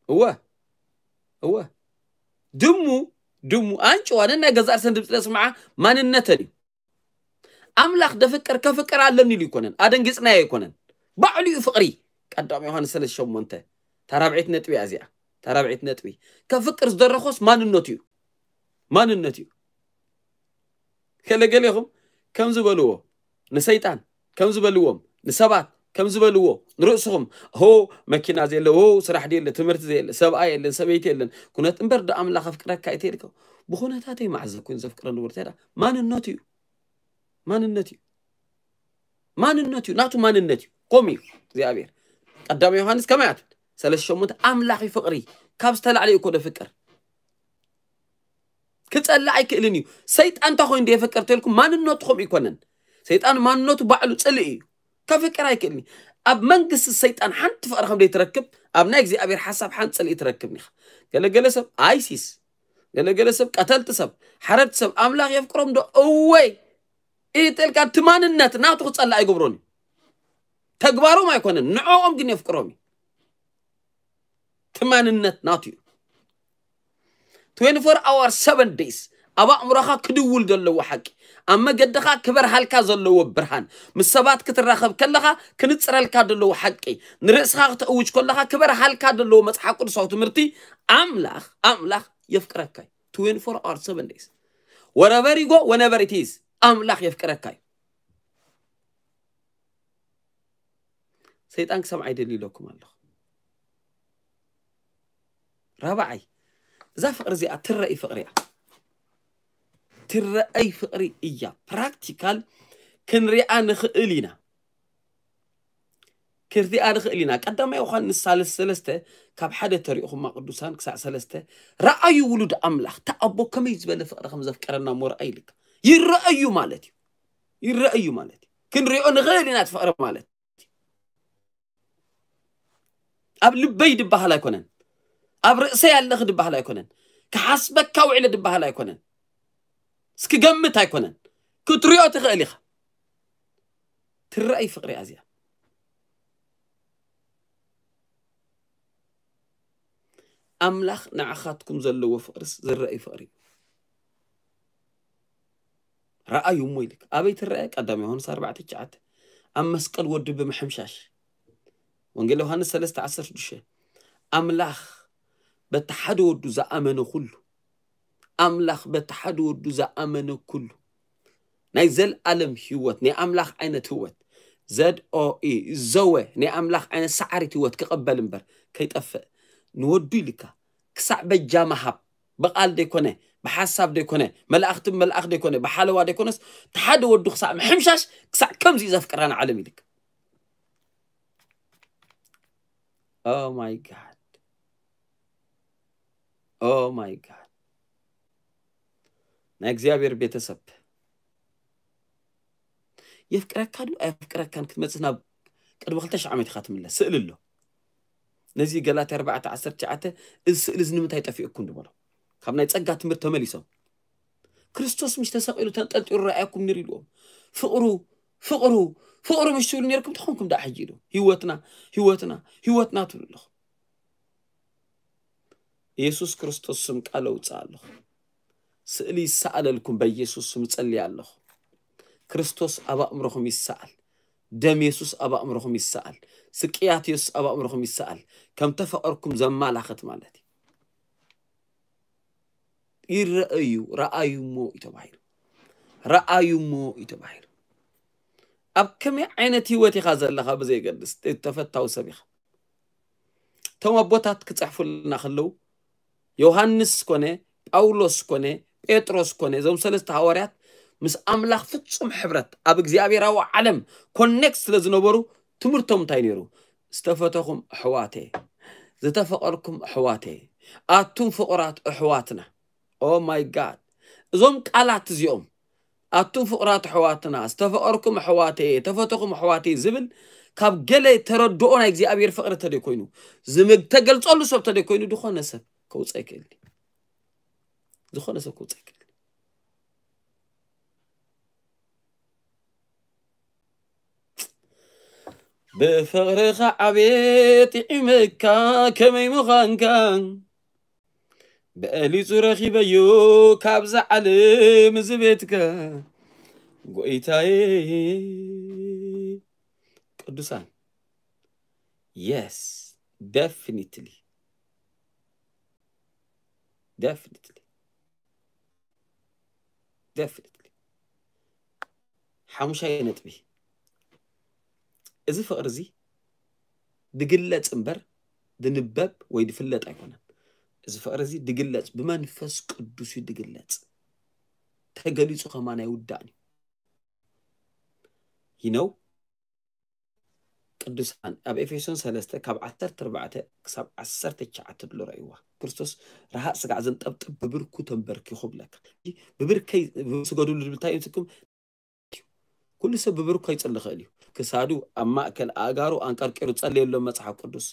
እወ፣ እወ። ድሙ፣ ድሙ ኣንጭዋ ነናይ ገዛእ ርእሰን ድምፂ ለስምዓ ማንነተን እዩ። ኣምላኽ ደፍቅር ከፍቅር ኣለኒ ኢሉ ኣይኮነን፣ ኣደንጊጽናዮ ኣይኮነን። ባዕሉ እዩ ፍቕሪ። ቀዳማይ ዮሃንስ ሰለስተ ሸሞንተ። እታ ራብዐይቲ ነጥቢ እያ እዚኣ። እታ ራብዐይቲ ነጥቢ። ከፍቅር ዝደረኾስ ማንነቱ እዩ። ማንነቱ እዩ። ገለገሌኹም ከም ዝበልዎ ንሰይጣን፣ ከም ዝበልዎም ንሰባት፣ ከም ዝበልዎ ንርእስኹም፣ ሆ መኪና ዘየለ፣ ሆ ስራሕ ዘየለ፣ ትምህርቲ ዘየለ፣ ሰብኣይ የለን፣ ሰበይቲ የለን፣ ኩነት እምበር ዶ ኣምላኽ ኣፍቅረካ እዩ ተይልካ? ብኹነታተይ መዓዝ ኮይኑ ዘፍቅረኒ ወርተዳ ማንነቱ እዩ። ማንነት እዩ። ማንነት እዩ። ናቱ ማንነት እዩ። ከምኡ እዩ እግዚኣብሔር። ቀዳማይ ዮሃንስ ከመይ ኣትብል? ሰለስተ ሸሞንተ ኣምላኽ እዩ ፍቕሪ። ካብ ዝተላዕለ እዩ እኮ ደፍቅር። ክጸልእ ኣይክእልን እዩ። ሰይጣን እንታይ ኮይኑ ደየፍቅር ተልኩም? ማንነቱ ከምኡ ይኮነን። ሰይጣን ማንነቱ ባዕሉ ጽልኢ እዩ። ከፍቅር ኣይክእልን እዩ። ኣብ መንግስቲ ሰይጣን ሓንቲ ፍቕሪ ከም ዘይትረክብ፣ ኣብ ናይ እግዚኣብሔር ሓሳብ ሓንቲ ጽልኢ ትረክብ ኢኻ። ገለገለ ሰብ ኣይሲስ፣ ገለገለ ሰብ ቀተልቲ ሰብ፣ ሓረድቲ ሰብ ኣምላኽ የፍቅሮም ዶ? እወይ! ኢትልካ እቲ ማንነት ናቱ ክጸልእ ኣይገብሮን እዩ። ተግባሮም ኣይኮነን፣ ንዕኦም ግን የፍቅሮም እዩ። እቲ ማንነት ናቱ እዩ። ትዌንቲ ፎር hour፣ ሰቨን days ኣብ ኣእምሮኻ ክድውል ዘለዎ ሓቂ፣ ኣብ መገድኻ ክበርሃልካ ዘለዎ ብርሃን፣ ምስ ሰባት ክትራኸብ ከለኻ ክንጽረልካ ዘለዎ ሓቂ፣ ንርእስኻ ክተእውጅ ከለኻ ክበርሃልካ ዘለዎ መጽሓፍ ቅዱሳዊ ትምህርቲ፣ ኣምላኽ፣ ኣምላኽ የፍቅረካ እዩ። ትዌንቲ ፎር hour፣ ሰቨን days፣ wherever you go, whenever it is፣ ኣምላኽ የፍቅረካ እዩ። ሰይጣን ክሰምዓ ይደሊ ኢለኩም ኣለኹ። ራብዓይ፣ እዛ ፍቕሪ እዚኣ ትረኣይ ፍቕሪ እያ። ትረኣይ ፍቕሪ እያ። ፕራክቲካል ክንሪኣ ንኽእል ኢና። ክንሪኣ ንኽእል ኢና። ቀዳማይ ዮሃንስ ሳልስ ሰለስተ ካብ ሓደ ተሪእኹማ ቅዱሳን ክሳዕ ሰለስተ፣ ረኣዩ ውሉድ ኣምላኽ፣ እቲ ኣቦ ከመይ ዝበለ ፍቕሪ ከም ዘፍቀረና እሞ ረኣዩ ኢልካ። ይረኣዩ ማለት እዩ። ይረኣዩ ማለት እዩ። ክንሪኦ ንኽእል ኢና እቲ ፍቕሪ ማለት። ኣብ ልበይ ድበሃል ኣይኮነን፣ ኣብ ርእሰይ ኣለኺ ድበሃል ኣይኮነን፣ ክሓስበካ ውዕለ ድበሃል ኣይኮነን፣ እስክገምት ኣይኮነን። ክትሪኦ ትኽእል ኢኻ። ትረኣይ ፍቕሪ እያ እዚኣ። ኣምላኽ ንዓኻትኩም ዘለዎ ፍቕርስ ዝረኣይ ፍቕሪ እዩ። ረኣዩ እሞ ኢልክ ኣበይ ትረአ? ቀዳም ዮሃንስ ኣርባዕተ ትሽዓተ፣ ኣብ መስቀል ወዱ ብምሕምሻሽ። ወንጌል ዮሃንስ ሰለስተ ዓሰርተ ሽዱሽተ፣ ኣምላኽ በቲ ሓደ ወዱ ዝኣመነ ኩሉ፣ ኣምላኽ በቲ ሓደ ወዱ ዝኣመነ ኩሉ ናይ ዘልኣለም ህይወት፣ ናይ ኣምላኽ ዓይነት ህይወት፣ ዘድ ኦ ኢ፣ ዘወ፣ ናይ ኣምላኽ ዓይነት ሰዓሪት ህይወት ክቐበል እምበር ከይጠፍእ ንወዱ ኢልካ ክሳዕ በጃ ምሃብ፣ ብቓል ደይኮነ፣ ብሓሳብ ደይኮነ፣ መላእኽቲ መልኣኽ ደይኮነ፣ ብሓለዋ ደይኮነስ፣ እቲ ሓደ ወዱ ክሳዕ ምሕምሻሽ፣ ክሳዕ ከምዚ እዩ ዘፍቅራ ንዓለም ኢልካ። Oh my God. Oh my God. ናይ እግዚኣብሔር ቤተሰብ የፍቅረካ ድዩ ኣየፍቅረካን ክትመጽእ ናብ ቅድሚ ክልተ ሽሕ ዓመት ኢኻ ትምለስ። ስእሊ ኣሎ። ነዚ ገላትያ ኣርባዕተ ዓሰርተ ትሽዓተ፣ እዚ ስእሊ እዚ ንምንታይ ጠፊእኩም ዝበሎ፣ ካብ ናይ ጸጋ ትምህርቲ ተመሊሶም። ክርስቶስ ምሽ ተሰቒሉ ተንጠልጢሉ ረኣየኩም ነይሩ ኢልዎም። ፍቕሩ፣ ፍቕሩ፣ ፍቕሩ ምሽ ትብሉ ነይርኩም ተኾንኩም ደኣ ሕጂ ኢሉ። ህይወትና፣ ህይወትና፣ ህይወትና ትብሉ ኣለኹም። ኢየሱስ ክርስቶስ ስም ቃል ኣውፅእ ኣለኹ። ስእሊ ይሰኣለልኩም፣ በኢየሱስ ስም እጸልይ ኣለኹ። ክርስቶስ ኣብ ኣእምሮኹም ይሰኣል። ደም የሱስ ኣብ ኣእምሮኹም ይሰኣል። ስቅያት የሱስ ኣብ ኣእምሮኹም ይሰኣል። ከም ተፈቐርኩም ዘማላኽት ማለት እዩ። ይረኣዩ፣ ረኣዩ እሞ እዩ ተባሂሉ። ረኣዩ እሞ እዩ ተባሂሉ። ኣብ ከመይ ዓይነት ህይወት ኢኻ ዘለኻ ብዘይገድስ፣ ተፈታዊ ሰብ ኢኻ። እቶም ኣቦታት ክጽሕፉልና ከለዉ፣ ዮሃንስ ኮነ፣ ጳውሎስ ኮነ፣ ጴጥሮስ ኮነ፣ እዞም ሰለስተ ሃዋርያት ምስ ኣምላኽ ፍጹም ሕብረት፣ ኣብ እግዚኣብሔራዊ ዓለም ኮኔክት ስለ ዝነበሩ፣ ትምህርቶም እንታይ ነይሩ? ዝተፈተኹም ኣሕዋተ፣ ዝተፈቐርኩም ኣሕዋተ፣ ኣቱም ፍቑራት ኣሕዋትና። ኦ ማይ ጋድ። እዞም ቃላት እዚኦም፣ ኣቱም ፍቑራት ኣሕዋትና፣ ዝተፈቐርኩም ኣሕዋተየ፣ ተፈተኹም ኣሕዋተየ ዝብል ካብ ገለ ተረድኦ ናይ እግዚኣብሔር ፍቕሪ ተደይ ኮይኑ፣ ዝምግ-፣ ተገልጸሉ ሰብ ተደይ ኮይኑ፣ ዝኾነ ሰብ ከውፅእ ኣይክእል እዩ። ዝኾነ ሰብ ከውፅእ ኣይክእል እዩ። ብፍቕርኻ ዓቤት ይዕመካ ከመይ ምዃንካ፣ በሊጹ ረኺበዮ ካብዛ ዓለም እዚ ቤትካ፣ ጎይታየ። ቅዱሳን፣ የስ፣ ደፍኒትሊ፣ ደፍኒትሊ፣ ደፍኒትሊ። ሓሙሻይ ነጥቢ፣ እዚ ፍቕሪ እዚ ድግለጽ እምበር ድንበብ ወይ ድፍለጥ ኣይኮነን። እዚ ፍቕሪ እዚ ድግለጽ፣ ብመንፈስ ቅዱስ እዩ ድግለጽ። ተገሊጹ ከማን ኣይውዳእን እዩ። You know? ቅዱሳን፣ ኣብ ኤፌሶን ሰለስተ ካብ ዓሰርተ ኣርባዕተ ክሳብ ዓሰርተ ትሽዓተ ድሎ ረእይዋ። ክርስቶስ ረሃቕ ስጋዕ ዘንጠብጥብ ብብርኩ ተንበርኪኹ ብለካ። ብብርከይ ስገዱሉ ዝብል እንታይ እዩ ትርጉም? ኩሉ ሰብ ብብርኩ ይጽሊ ይኽእል እዩ። ክሳዱ፣ ኣብ ማእከል ኣእጋሩ ኣንቀርቂሩ ጸልየሎም መጽሓፍ ቅዱስ።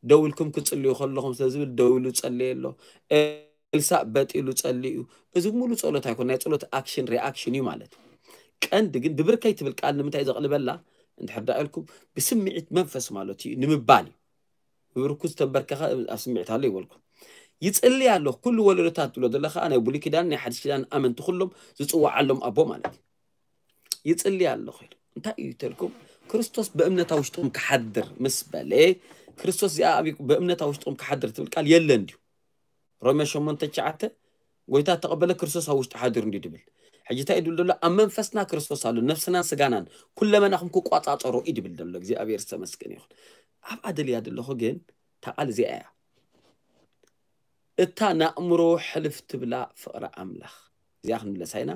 ደው ኢልኩም ክትጽልዩ ከለኹም ስለ ዝብል ደው ኢሉ ጸልየ ኣሎ። ኤልሳእ በጥ ኢሉ ጸልዩ። እዚ ሙሉ ጸሎት ኣይኮን፣ ናይ ጸሎት ኣክሽን ሪኣክሽን እዩ ማለት እዩ። ቀንዲ ግን ብብርከይ ትብል ቃል ንምንታይ ዘቕልበላ? እንድሕር ደኣ ኢልኩም ብስምዒት መንፈስ ማለት እዩ ንምባል እዩ። ብብርኩ ዝተንበርከኸ ኣብ ስምዒት ኣሎ ይበልኩም። ይጽሊ ኣሎ። ኩሉ ወለዶታት ትብሎ ዘለኻ ናይ ብሉይ ኪዳን ናይ ሓድሽ ኪዳን ኣመንቲ ኩሎም ዝጽውዓሎም ኣቦ ማለት እዩ። ይጽሊ ኣለኹ ኢሉ። እንታይ እዩ ተልኩም? ክርስቶስ ብእምነት ኣብ ውሽጥኹም ክሓድር ምስ በለ፣ ክርስቶስ እዚኣ ኣብ፣ ብእምነት ኣብ ውሽጥኹም ክሓድር ትብል ቃል የለን ድዩ? ሮሜ ሸሞንተ ትሽዓተ፣ ጎይታ ተቐበለ ክርስቶስ ኣብ ውሽጡ ሓድር እንዲዩ ድብል። ሕጂ እንታይ እዩ ድብል ዘሎ? ኣብ መንፈስና ክርስቶስ ኣሎ፣ ነፍስናን ስጋናን ኩለመናኹም ክቋጻጸሮ እዩ ድብል ዘሎ። እግዚኣብሔር ዝተመስገነ ይኹን። ኣብኣ ደልያ ዘለኹ ግን እታ ቃል እዚኣ እያ። እታ ንኣእምሮ ሕልፍ ትብላ ፍቕሪ ኣምላኽ። እዚኣ ክንምለሳ ኢና።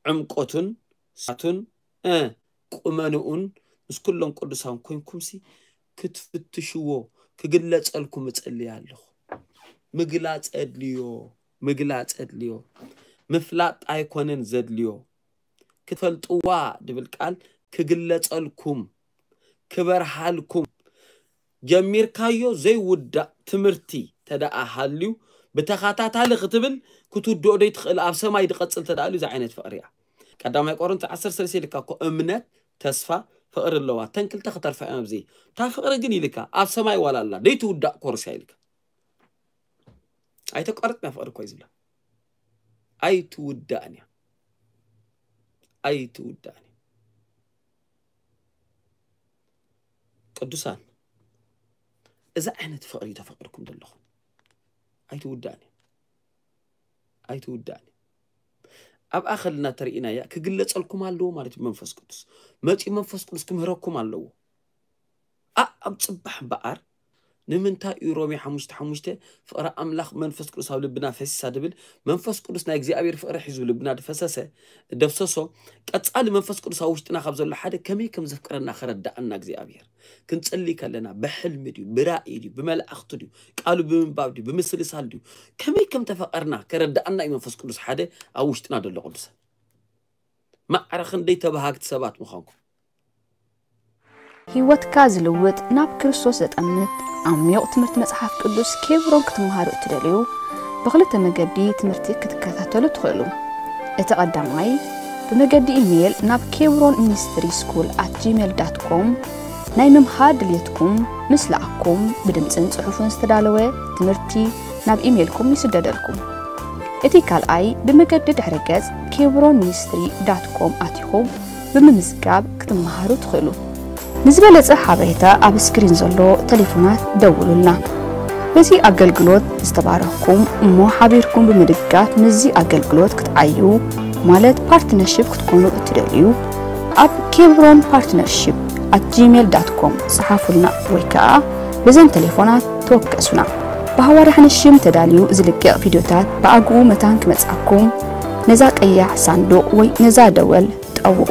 ዕምቆቱን ሳቱን፣ እ፣ ቁመንኡን ምስ ኩሎም ቅዱሳን ኮይንኩምሲ ክትፍትሽዎ፣ ክግለጸልኩም እጸልይ ኣለኹ። ምግላጽ ኣድልዮ፣ ምግላጽ ኣድልዮ። ምፍላጥ ኣይኮነን ዘድልዮ። ክትፈልጥዋ ድብል ቃል ክግለጸልኩም፣ ክበርሃልኩም፣ ጀሚርካዮ ዘይውዳእ ትምህርቲ ተደኣ ሃልዩ፣ ብተኸታታሊ ክትብል ክትውድኦ ደይትኽእል፣ ኣብ ሰማይ ዝቐጽል ተደኣ ሃልዩ፣ እዚ ዓይነት ፍቕሪ እያ። ቀዳማይ ቆሮንቶስ ዓሰርተ ሰለስተ ኢልካ እኮ፣ እምነት፣ ተስፋ፣ ፍቕሪ ኣለዋ። እተን ክልተ ክተርፋ እዮም ኣብዚ። እታ ፍቕሪ ግን ኢልካ፣ ኣብ ሰማይ ዋላ ኣላ፣ ደይትውዳእ ኮርስ እያ ኢልካ። ኣይተቋርጽን እያ ፍቕሪ እኮ እዩ ዝብላ። ኣይትውዳእን እያ። ኣይትውዳእን እያ። ቅዱሳን፣ እዚ ዓይነት ፍቕሪ እዩ ተፈቒርኩም ዘለኹም። ኣይትውዳእን እያ። ኣይትውዳእን እያ። ኣብኣ ከለና ተርእይናያ ክግለጸልኩም ኣለዎ ማለት እዩ። መንፈስ ቅዱስ መጺኡ መንፈስ ቅዱስ ክምህረኩም ኣለዎ። ኣ-፣ ኣብ ጽባሕ እምበኣር ንምንታይ እዩ ሮሜ ሓሙሽተ ሓሙሽተ ፍቕሪ ኣምላኽ መንፈስ ቅዱስ ኣብ ልብና ፈሲሳ ድብል? መንፈስ ቅዱስ ናይ እግዚኣብሔር ፍቕሪ ሒዙ ልብና ድፈሰሰ፣ ደፍሰሶ። ቀጻሊ መንፈስ ቅዱስ ኣብ ውሽጥና ካብ ዘሎ ሓደ ከመይ ከም ዘፍቅረና ከረዳኣና እግዚኣብሔር። ክንጽሊ ከለና ብሕልሚ ድዩ፣ ብራእይ ድዩ፣ ብመላእኽቲ ድዩ፣ ቃሉ ብምንባብ ድዩ፣ ብምስልሳል ድዩ፣ ከመይ ከም ተፈቐርና ከረዳኣና እዩ መንፈስ ቅዱስ ሓደ ኣብ ውሽጥና ዘሎ ቅዱሳን። ማዕረ ክንደይ ተባሃግቲ ሰባት ምዃንኩም። ህይወትካ ዝልውጥ፣ ናብ ክርስቶስ ዘጠምት ዓሚቕ ትምህርቲ መጽሓፍ ቅዱስ ኬብሮን ክትመሃሩ እትደልዩ፣ ብኽልተ መገዲ ትምህርቲ ክትከታተሉ ትኽእሉ። እቲ ቀዳማይ፣ ብመገዲ ኢሜይል ናብ ኬብሮን ሚኒስትሪ ስኩል ኣት ጂሜል ዳት ኮም ናይ ምምሃር ድልየትኩም ምስ ለኣኽኩም፣ ብድምጽን ጽሑፍን ዝተዳለወ ትምህርቲ ናብ ኢሜይልኩም ይስደደልኩም። እቲ ካልኣይ፣ ብመገዲ ድሕረ ገጽ ኬብሮን ሚኒስትሪ ዳት ኮም ኣቲኹም ብምምዝጋብ ክትመሃሩ ትኽእሉ። ንዝበለጸ ሓበሬታ ኣብ ስክሪን ዘሎ ቴሌፎናት ደውሉልና። በዚ ኣገልግሎት ዝተባረኽኩም እሞ ሓቢርኩም ብምድጋፍ ምስዚ ኣገልግሎት ክትዓዩ ማለት ፓርትነርሺፕ ክትኮኑ እትደልዩ፣ ኣብ ኬብሮን ፓርትነርሺፕ ኣት ጂሜል ዳት ኮም ጸሓፉልና ወይ ከኣ በዘን ቴሌፎናት ተወከሱና። ብሃዋርያ ሓንሽም ተዳልዩ ዝልቀቕ ቪድዮታት ብኣግኡ መታን ክመጽኣኩም ነዛ ቀያሕ ሳንዱቕ ወይ ነዛ ደወል ጠውቑ።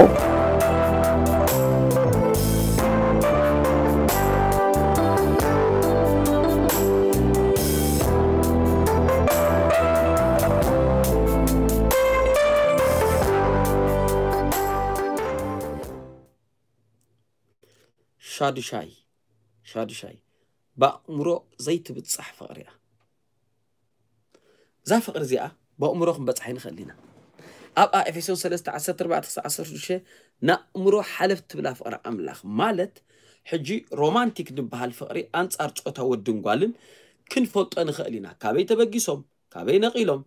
ሻዱሻይ፣ ሻዱሻይ፣ ብኣእምሮ ዘይትብጻሕ ፍቕሪ እያ። እዛ ፍቕሪ እዚኣ ብኣእምሮ ክንበጽሓ ኣይንኽእል ኢና። ኣብኣ ኤፌሶን ሰለስተ ዓሰርተ ኣርባዕተ ክሳብ ዓሰርተ ሽዱሽተ ንኣእምሮ ሓለፍ ትብላ ፍቕሪ ኣምላኽ ማለት፣ ሕጂ ሮማንቲክ ዝበሃል ፍቕሪ ኣንጻር ጾታ ወድን ጓልን ክንፈልጦ ንኽእል ኢና። ካበይ ተበጊሶም፣ ካበይ ነቒሎም፣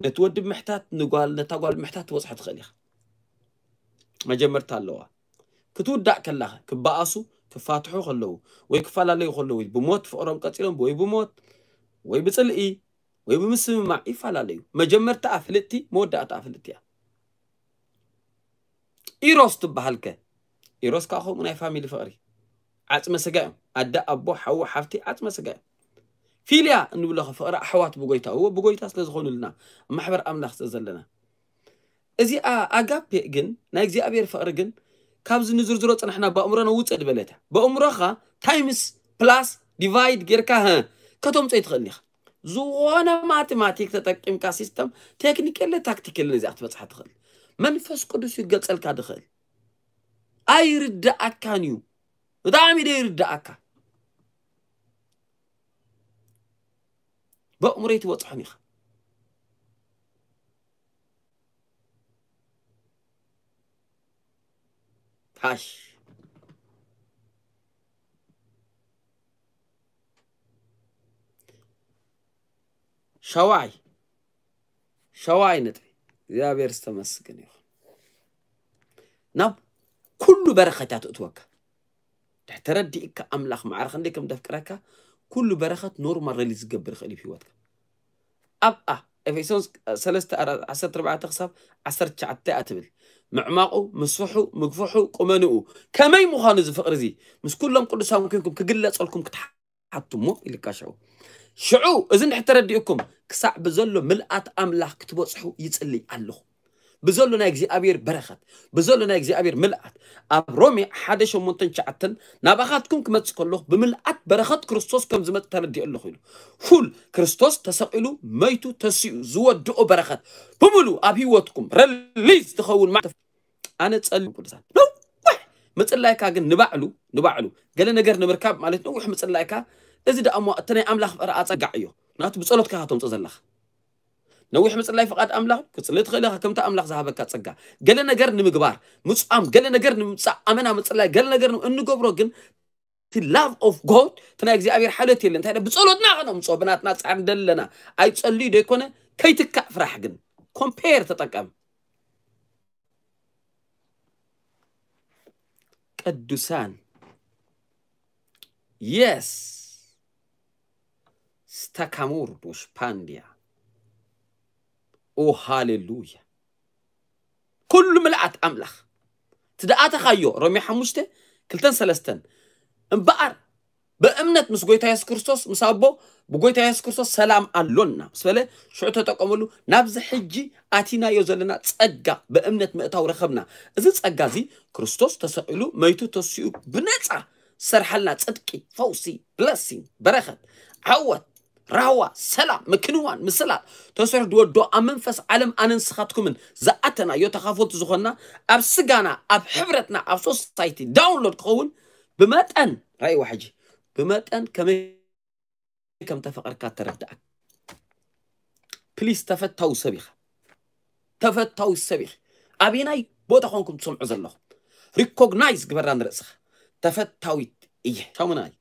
ነቲ ወዲ ብምሕታት፣ ንጓል፣ ነታ ጓል ብምሕታት ትበጽሖ ትኽእል ኢኻ። መጀመርታ ኣለዋ። ክትውዳእ ከላ፣ ክበኣሱ፣ ክፋትሑ ከለዉ፣ ወይ ክፈላለዩ ከለዉ፣ ብሞት ፍቕሮም ቀጺሎም፣ ወይ ብሞት፣ ወይ ብጽልኢ፣ ወይ ብምስምማዕ ይፈላለዩ። መጀመርታኣ ፍልጥቲ፣ መወዳእታኣ ፍልጥቲ እያ። ኢሮስ ትበሃል ከ? ኢሮስ ከኣ ከምኡ ናይ ፋሚሊ ፍቕሪ። ዓጽመ ስጋ እዮም። ኣደ፣ ኣቦ፣ ሓዉ፣ ሓፍቲ ዓጽመ ስጋ እዮም። ፊልያ እንብሎ ከ ፍቕሪ ኣሕዋት ብጎይታ፣ እዎ ብጎይታ ስለ ዝኾኑልና፣ ኣብ ማሕበር ኣምላኽ ስለ ዘለና። እዚኣ ኣጋፔ ግን፣ ናይ እግዚኣብሔር ፍቕሪ ግን፣ ካብዚ ንዝርዝሮ ጽናሕና ብኣእምሮና ውጽእ ዝበለት እያ። ብኣእምሮኻ ታይምስ ፕላስ ዲቫይድ ጌርካ፣ ሀ፣ ከተምጾ ኣይትኽእልን ኢኻ። ዝኾነ ማቴማቲክ ተጠቂምካ ሲስተም፣ ቴክኒክ የለ፣ ታክቲክ የለ፣ ነዚኣ ክትበጽሓ ትኽእል። መንፈስ ቅዱስ እዩ ክገልጸልካ ድኽእል። ኣይርድኣካን እዩ። ብጣዕሚ ዶ ይርድኣካ? ብኣእምሮ ኣይትበጽሖን ኢኻ። ሃሽ። ሻዋይ፣ ሻዋይ ነጥቢ። እግዚኣብሔር ዝተመስገን ይኹን። ናብ ኩሉ በረኸት እያ ትእትወካ። ድሕሪ ተረዲእካ ኣምላኽ ማዕረ ክንደይ ከም ደፍቅረካ፣ ኩሉ በረኸት ኖርማል ሪሊዝ ዝገብር ይኽእል እዩ ህይወትካ። ኣብኣ ኤፌሶን ሰለስተ ዓሰርተ ኣርባዕተ ክሳብ ዓሰርተ ትሽዓተ እያ ትብል። ምዕማቑ፣ ምስፍሑ፣ ምግፍሑ፣ ቁመንኡ፣ ከመይ ምዃኑ እዚ ፍቕሪ እዚ ምስ ኩሎም ቅዱሳን ኮንኩም ክግለጸልኩም ክትሓቱ እሞ ኢልካ ሽዑ። ሽዑ እዚ እንድሕር ተረዲእኩም ክሳዕ ብዘሎ ምልኣት ኣምላኽ ክትበጽሑ ይጽልይ ኣለኹ። ብዘሎ ናይ እግዚኣብሔር በረኸት፣ ብዘሎ ናይ እግዚኣብሔር ምልኣት፣ ኣብ ሮሜ ሓደ ሸሞንተን ትሽዓተን ናባኻትኩም ክመጽእ ከለኹ ብምልኣት በረኸት ክርስቶስ ከም ዝመጽእ ተረዲኦ ኣለኹ ኢሉ። ፉል ክርስቶስ ተሰቒሉ፣ መይቱ፣ ተሲኡ ዝወድኦ በረኸት ብምሉ ኣብ ህይወትኩም ረሊዝ ትኸውን ማለት ኣነ ጸልዩ ቅዱሳን ነዊሕ ምጽላይካ ግን ንባዕሉ ንባዕሉ ገለ ነገር ንምርካብ ማለት ነዊሕ ምጽላይካ፣ እዚ ደኣ እሞ እቲ ናይ ኣምላኽ ፍቕሪ ኣጸጋዕ እዩ። ናቱ ብጸሎትካ ኢኻ ተምጽኦ ዘለኻ። ነዊሕ ምጽላይ ፍቓድ ኣምላኽ ክትጽሊ ትኽእል ኢኻ፣ ከምቲ ኣምላኽ ዝሃበካ ጸጋ። ገለ ነገር ንምግባር ምጽኣም፣ ገለ ነገር ንምምጻእ፣ ኣመና ምጽላይ፣ ገለ ነገር ን-፣ እንገብሮ ግን እቲ love of God፣ እቲ ናይ እግዚኣብሔር ሓልዮት የለን። እንታይ ኢለ ብጸሎትና ከነምጽኦ፣ ብናትና ጻዕሪ ደለና ኣይጸልዩ ዶ ይኮነ? ከይትካእ ፍራሕ ግን ኮምፔር ተጠቀም። ቅዱሳን የስ ስታካሙር ዶሽ ፓንዲያ። ኦ ሃሌሉያ። ኩሉ ምልኣት ኣምላኽ ትደኣተኻዮ ሮሜ ሓሙሽተ ክልተን ሰለስተን እምበኣር ብእምነት ምስ ጎይታ የሱስ ክርስቶስ ምስ ኣቦ ብጎይታ የሱስ ክርስቶስ ሰላም ኣሎና ምስ በለ ሽዑ ተጠቀመሉ። ናብዚ ሕጂ ኣቲናዮ ዘለና ጸጋ ብእምነት ምእታው ረኸብና። እዚ ጸጋ እዚ ክርስቶስ ተሰቒሉ መይቱ ተሲኡ ብነጻ ዝሰርሓልና ጽድቂ፣ ፈውሲ፣ ብለሲንግ፣ በረኸት፣ ዓወት፣ ራህዋ፣ ሰላም፣ ምክንዋን፣ ምስላል ተሰርሑ ድወዶ ኣብ መንፈስ ዓለም ኣነን ስኻትኩምን ዝኣተናዮ ተኻፈልቲ ዝኾንና ኣብ ስጋና ኣብ ሕብረትና ኣብ ሶሳይቲ ዳውንሎድ ክኸውን ብመጠን ራእይዋ ሕጂ ብመጠን ከመይ ከም ተፈቐርካ ተረዳእ። ፕሊስ ተፈታዊ ሰብ ኢኻ፣ ተፈታዊ ሰብ ኢኻ። ኣበናይ ቦታ ኮንኩም ትሰምዑ ዘለኹም ሪኮግናይዝ ግበራ ንርእስኻ። ተፈታዊት እየ። ሻሙናይ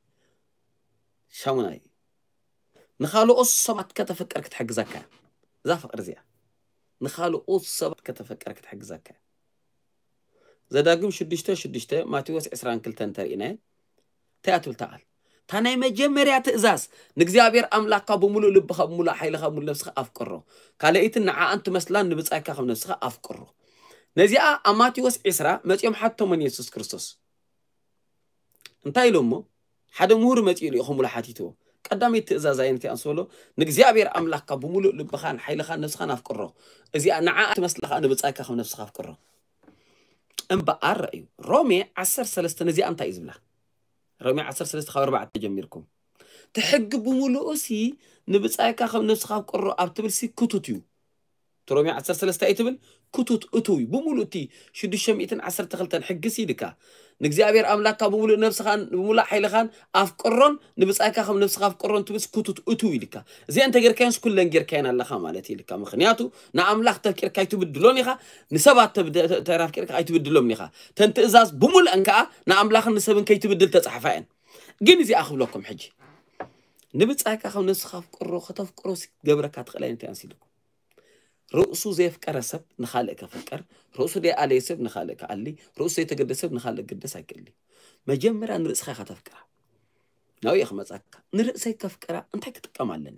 ሻሙናይ ንኻልኦት ሰባት ከተፍቅር ክትሕግዘካ እያ። እዛ ፍቅሪ እዚኣ ንኻልኦት ሰባት ከተፍቅር ክትሕግዘካ እያ። ዘዳግም ሽዱሽተ ሽዱሽተ ማቴዎስ ዕስራን ክልተን እንተርኢናዮ እንታይ እያ ትብል እታ ቃል? እታ ናይ መጀመርያ ትእዛዝ ንእግዚኣብሔር ኣምላኽካ ብምሉእ ልብኻ ብምሉእ ሓይልኻ ብምሉእ ነብስኻ ኣፍቅሮ። ካልኣይትን ንዓኣን ትመስላን ንብጻይካ ከም ነብስኻ ኣፍቅሮ። ነዚኣ ኣብ ማቴዎስ ዕስራ መጺኦም ሓቶሞ ንየሱስ ክርስቶስ። እንታይ ኢሎሞ? ሓደ ምሁር መጺኡ ልኢኹምሉ ሓቲትዎ። ቀዳመይቲ ትእዛዝ ኣየነይቲ እያ ምስ በሎ፣ ንእግዚኣብሔር ኣምላኽካ ብምሉእ ልብኻን ሓይልኻን ነብስኻን ኣፍቅሮ። እዚኣ ንዓኣ ትመስል ኸኣ ንብጻይካ ከም ነብስኻ ኣፍቅሮ። እምበኣር ረእዩ። ሮሜ ዓሰርተ ሰለስተ ነዚኣ እንታይ እዩ ዝብላ? ሮሜ ዓሰርተ ሰለስተ ካብ ኣርባዕተ ጀሚርኩም። እቲ ሕጊ ብምሉኡሲ ንብጻይካ ከም ነብስኻ ኣፍቅሮ ኣብ ትብልሲ ክቱት እዩ። እቲ ሮሜ ዓሰርተ ሰለስተ እዩ ትብል ክቱት እቱው እዩ። ብምሉእ እቲ ሽዱሽተ ሚእትን ዓሰርተ ክልተን ሕጊሲ ኢልካ ንእግዚኣብሔር ኣምላኽካ ብምሉእ ነብስኻን ብምሉእ ሓይልኻን ኣፍቅሮን ንብጻይካ ከም ነብስኻ ኣፍቅሮን ትብልሲ ክቱት እቱው ኢልካ። እዚአን እንተጌርካዮንስ ኩለን ጌርካየን ኣለኻ ማለት እዩ ኢልካ። ምኽንያቱ ንኣምላኽ ተፍቂርካ ኣይትብድሎን ኢኻ፣ ንሰባት ተብ-፣ ተ-፣ ተራፍቂርካ ኣይትብድሎም ኢኻ። ተን ትእዛዝ ብምሉአን ከኣ ንኣምላኽን ንሰብን ከይትብድል ተጻሕፋ እየን። ግን እዚኣ ክብለኩም ሕጂ ንብጻይካ ከም ነብስኻ ኣፍቅሮ ከተፍቅሮ ሲ-፣ ገብረካ ትኽእል ኣይነት እያ ኣንስ ኢልኩም። ርእሱ ዘየፍቀረ ሰብ ንኻልእ ከፍቅር፣ ርእሱ ዘይኣለየ ሰብ ንኻልእ ክኣሊ፣ ርእሱ ዘይተገደሰ ሰብ ንኻልእ ክግደስ ኣይክእልን እዩ። መጀመርያ ንርእስኻ ኢኻ ተፍቅራ። ናብኡ እየ ክመጻካ። ንርእሰይ ከፍቅራ እንታይ ክጥቀም ኣለኒ?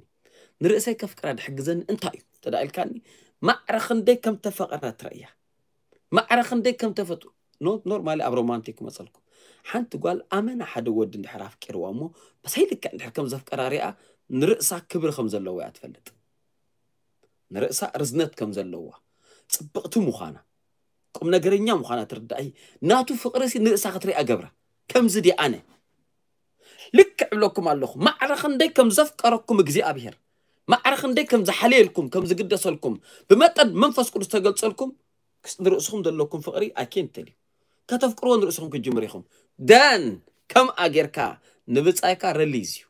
ንርእሰይ ከፍቅራ ድሕግዘኒ እንታይ እዩ? እንተ ደኣ ኢልካኒ፣ ማዕረ ክንደይ ከም ተፈቐረት ርእያ። ማዕረ ክንደይ ከም ተፈቱ-፣ ኖ-፣ ኖርማሊ ኣብ ሮማንቲክ ክመጸልኩም። ሓንቲ ጓል ኣመና ሓደ ወዲ እንድሕር ኣፍቂርዋ እሞ፣ ብሰይ ልክዕ እንድሕር ከም ዘፍቀራ ሪኣ፣ ንርእሳ ክብሪ ከም ዘለዎ እያ ትፈልጥ። ንርእሳ ርዝነት ከም ዘለዋ፣ ጽብቕቲ ምዃና፣ ቁም ነገረኛ ምዃና ትርዳእ። ናቱ ፍቕሪ ሲ ንርእሳ ክትሪኣ ገብራ። ከምዚ ድየ ኣነ? ልክዕ እብለኩም ኣለኹ። ማዕረ ክንደይ ከም ዘፍቀረኩም እግዚኣብሔር፣ ማዕረ ክንደይ ከም ዝሓለየልኩም፣ ከም ዝግደሰልኩም፣ ብመጠን መንፈስ ቅዱስ ተገልጸልኩም፣ ክስ-፣ ንርእስኹም ዘለኩም ፍቕሪ I can't tell you። ከተፍቅርዎ ንርእስኹም ክትጅምሩ ኢኹም። ደን ከምኣ ጌርካ ንብጻይካ ረሊዝ እዩ።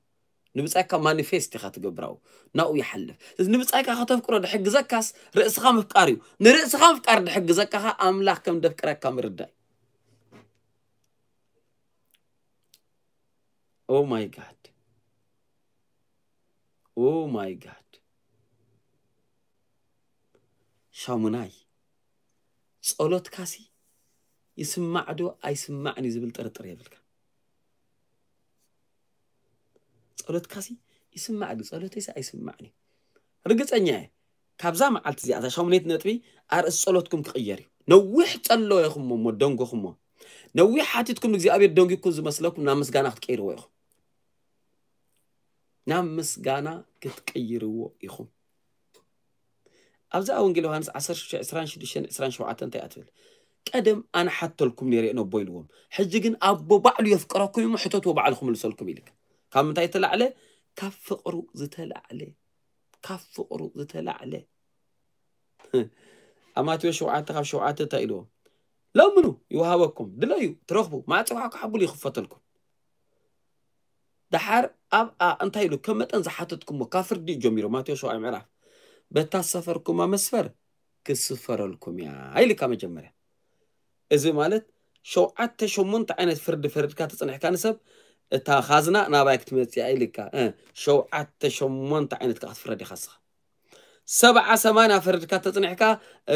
ንብጻይካ ማኒፌስት ኢኻ ትገብራው። ናብኡ ይሓልፍ። እዚ ንብጻይካ ከተፍቅሮ ድሕግዘካስ ርእስኻ ምፍቃር እዩ። ንርእስኻ ምፍቃር ድሕግዘካ ኸኣ ኣምላኽ ከም ደፍቅረካ ምርዳእ እዩ። Oh my God. Oh my God. ሻሙናይ፣ ጸሎትካሲ ይስማዕ ዶ ኣይስማዕን እዩ ዝብል ጥርጥር የብልካ። ጸሎትካሲ ይስማዕ ድዩ? ጸሎተይሲ ኣይስማዕን እዩ። ርግጸኛ እየ፣ ካብዛ መዓልቲ እዚኣ፣ እዛ ሻሙነይቲ ነጥቢ፣ ኣርእስቲ ጸሎትኩም ክቕየር እዩ። ነዊሕ ጸለኹሞ እሞ ደንጎኹሞ፣ ነዊሕ ሓቲትኩም እግዚኣብሔር ደንጊኩም ዝመስለኩም ናብ ምስጋና ክትቀይርዎ ኢኹም። ናብ ምስጋና ክትቀይርዎ ኢኹም። ኣብዛ ወንጌል ዮሃንስ ዓሰርተ ሽዱሽተ ዕስራን ሽዱሽተን ዕስራን ሸውዓተን እንታይ እያ ትብል? ቀደም ኣነ ሓተልኩም ነይረ እየ ነቦ ኢልዎም። ሕጂ ግን ኣቦ ባዕሉ የፍቅረኩም እሞ ሕተትዎ ባዕሉ ክምልሰልኩም ኢልካ። ካብ ምንታይ ዝተላዕለ? ካብ ፍቕሩ ዝተላዕለ። ካብ ፍቕሩ ዝተላዕለ። ኣብ ማቴዎስ ሸውዓተ ካብ ሸውዓተ እንታይ ኢልዎ? ለምኑ ይወሃበኩም፣ ድለዩ ትረኽቡ፣ ማዕጽዋ ክሓብሉ ይኽፈተልኩም። ደሓር ኣብኣ እንታይ ኢሉ ከም መጠን ዝሓተትኩሞ ካብ ፍርዲ እዩ ጀሚሩ። ማቴዎስ ሸውዓይ ምዕራፍ፣ በታ ዝሰፈርኩማ መስፈር ክስፈረልኩም እያ ኢልካ መጀመርያ። እዚ ማለት ሸውዓተ ሸሞንተ ዓይነት ፍርዲ ፈርድካ ተጽኒሕካ ንሰብ፣ እታ ካዝና ናባይ ክትመጽእ እያ ኢልካ። እ፣ ሸውዓተ ሸሞንተ ዓይነት ከዓ ክትፍረድ ኢኻ ንስኻ። ሰብዓ ሰማንያ ፈርድካ ተጽኒሕካ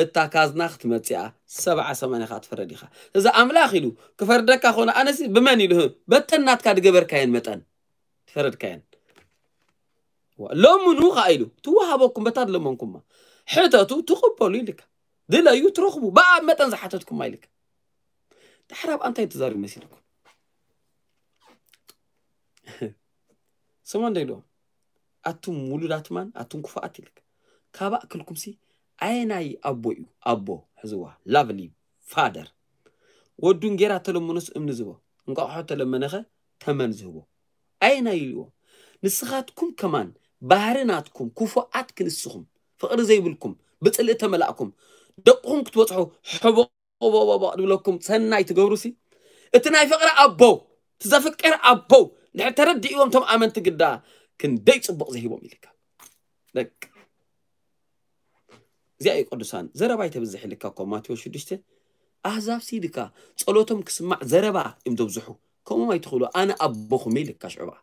እታ ካዝና ክትመጽእ እያ። ሰብዓ ሰማንያ ከዓ ትፈረድ ኢኻ። እዚ ኣምላኽ ኢሉ ክፈርደካ ኾነ ኣነሲ ብመን ኢሉ? በተን ናትካ ዝገበርካየን መጠን ትፈረድካየን። ዋ፣ ለምኑ ከዓ ኢሉ ትወሃበኩም፣ በታ ዝለመንኩማ። ሕተቱ ትቕበሉ ኢልካ። ድለዩ ትረኽቡ፣ ብኣብ መጠን ዝሓተትኩማ ኢልካ። ድሕር ኣብ እንታይ ተዛሪቡ መሲልኩም? ስማ እንደ ኢልዎ፣ ኣቱም ውሉዳት ማን፣ ኣቱም ክፉኣት ኢልካ። ካብ ኣክልኩምሲ ኣየናይ ኣቦ እዩ ኣቦ? ሕዝዋ፣ ላቭሊ ፋደር። ወዱ እንጌራ ተለመኖስ እምኒ ዝቦ፣ እንቋቑሖ ተለመነኸ ተመን ዝህቦ። ኣየናይ ኢልዎ? ንስኻትኩም ከማን ባህሪ ናትኩም ክፉኣት ክንስኹም፣ ፍቕሪ ዘይብልኩም፣ ብጽልኢ ተመላእኩም፣ ደቅኹም ክትበጽሑ ሕቦ ቦቦቦቦ ዝብለኩም ሰናይ ትገብሩሲ፣ እቲ ናይ ፍቕሪ ኣቦ፣ እቲ ዘፍቅር ኣቦ እንድሕር ተረዲእዎም እቶም ኣመንቲ ግዳ ክንደይ ጽቡቕ ዝሂቦም ኢልካ። ደቅ እዚኣ እዩ ቅዱሳን። ዘረባ ኣይተብዝሕ ኢልካ እኮ ማቴዎስ ሽዱሽተ። ኣህዛብ ሲ ኢልካ ጸሎቶም ክስማዕ ዘረባ እዮም ዘብዝሑ። ከምኦም ኣይትኽእሉ። ኣነ ኣቦኹም እየ ኢልካ ሽዑ በኣ።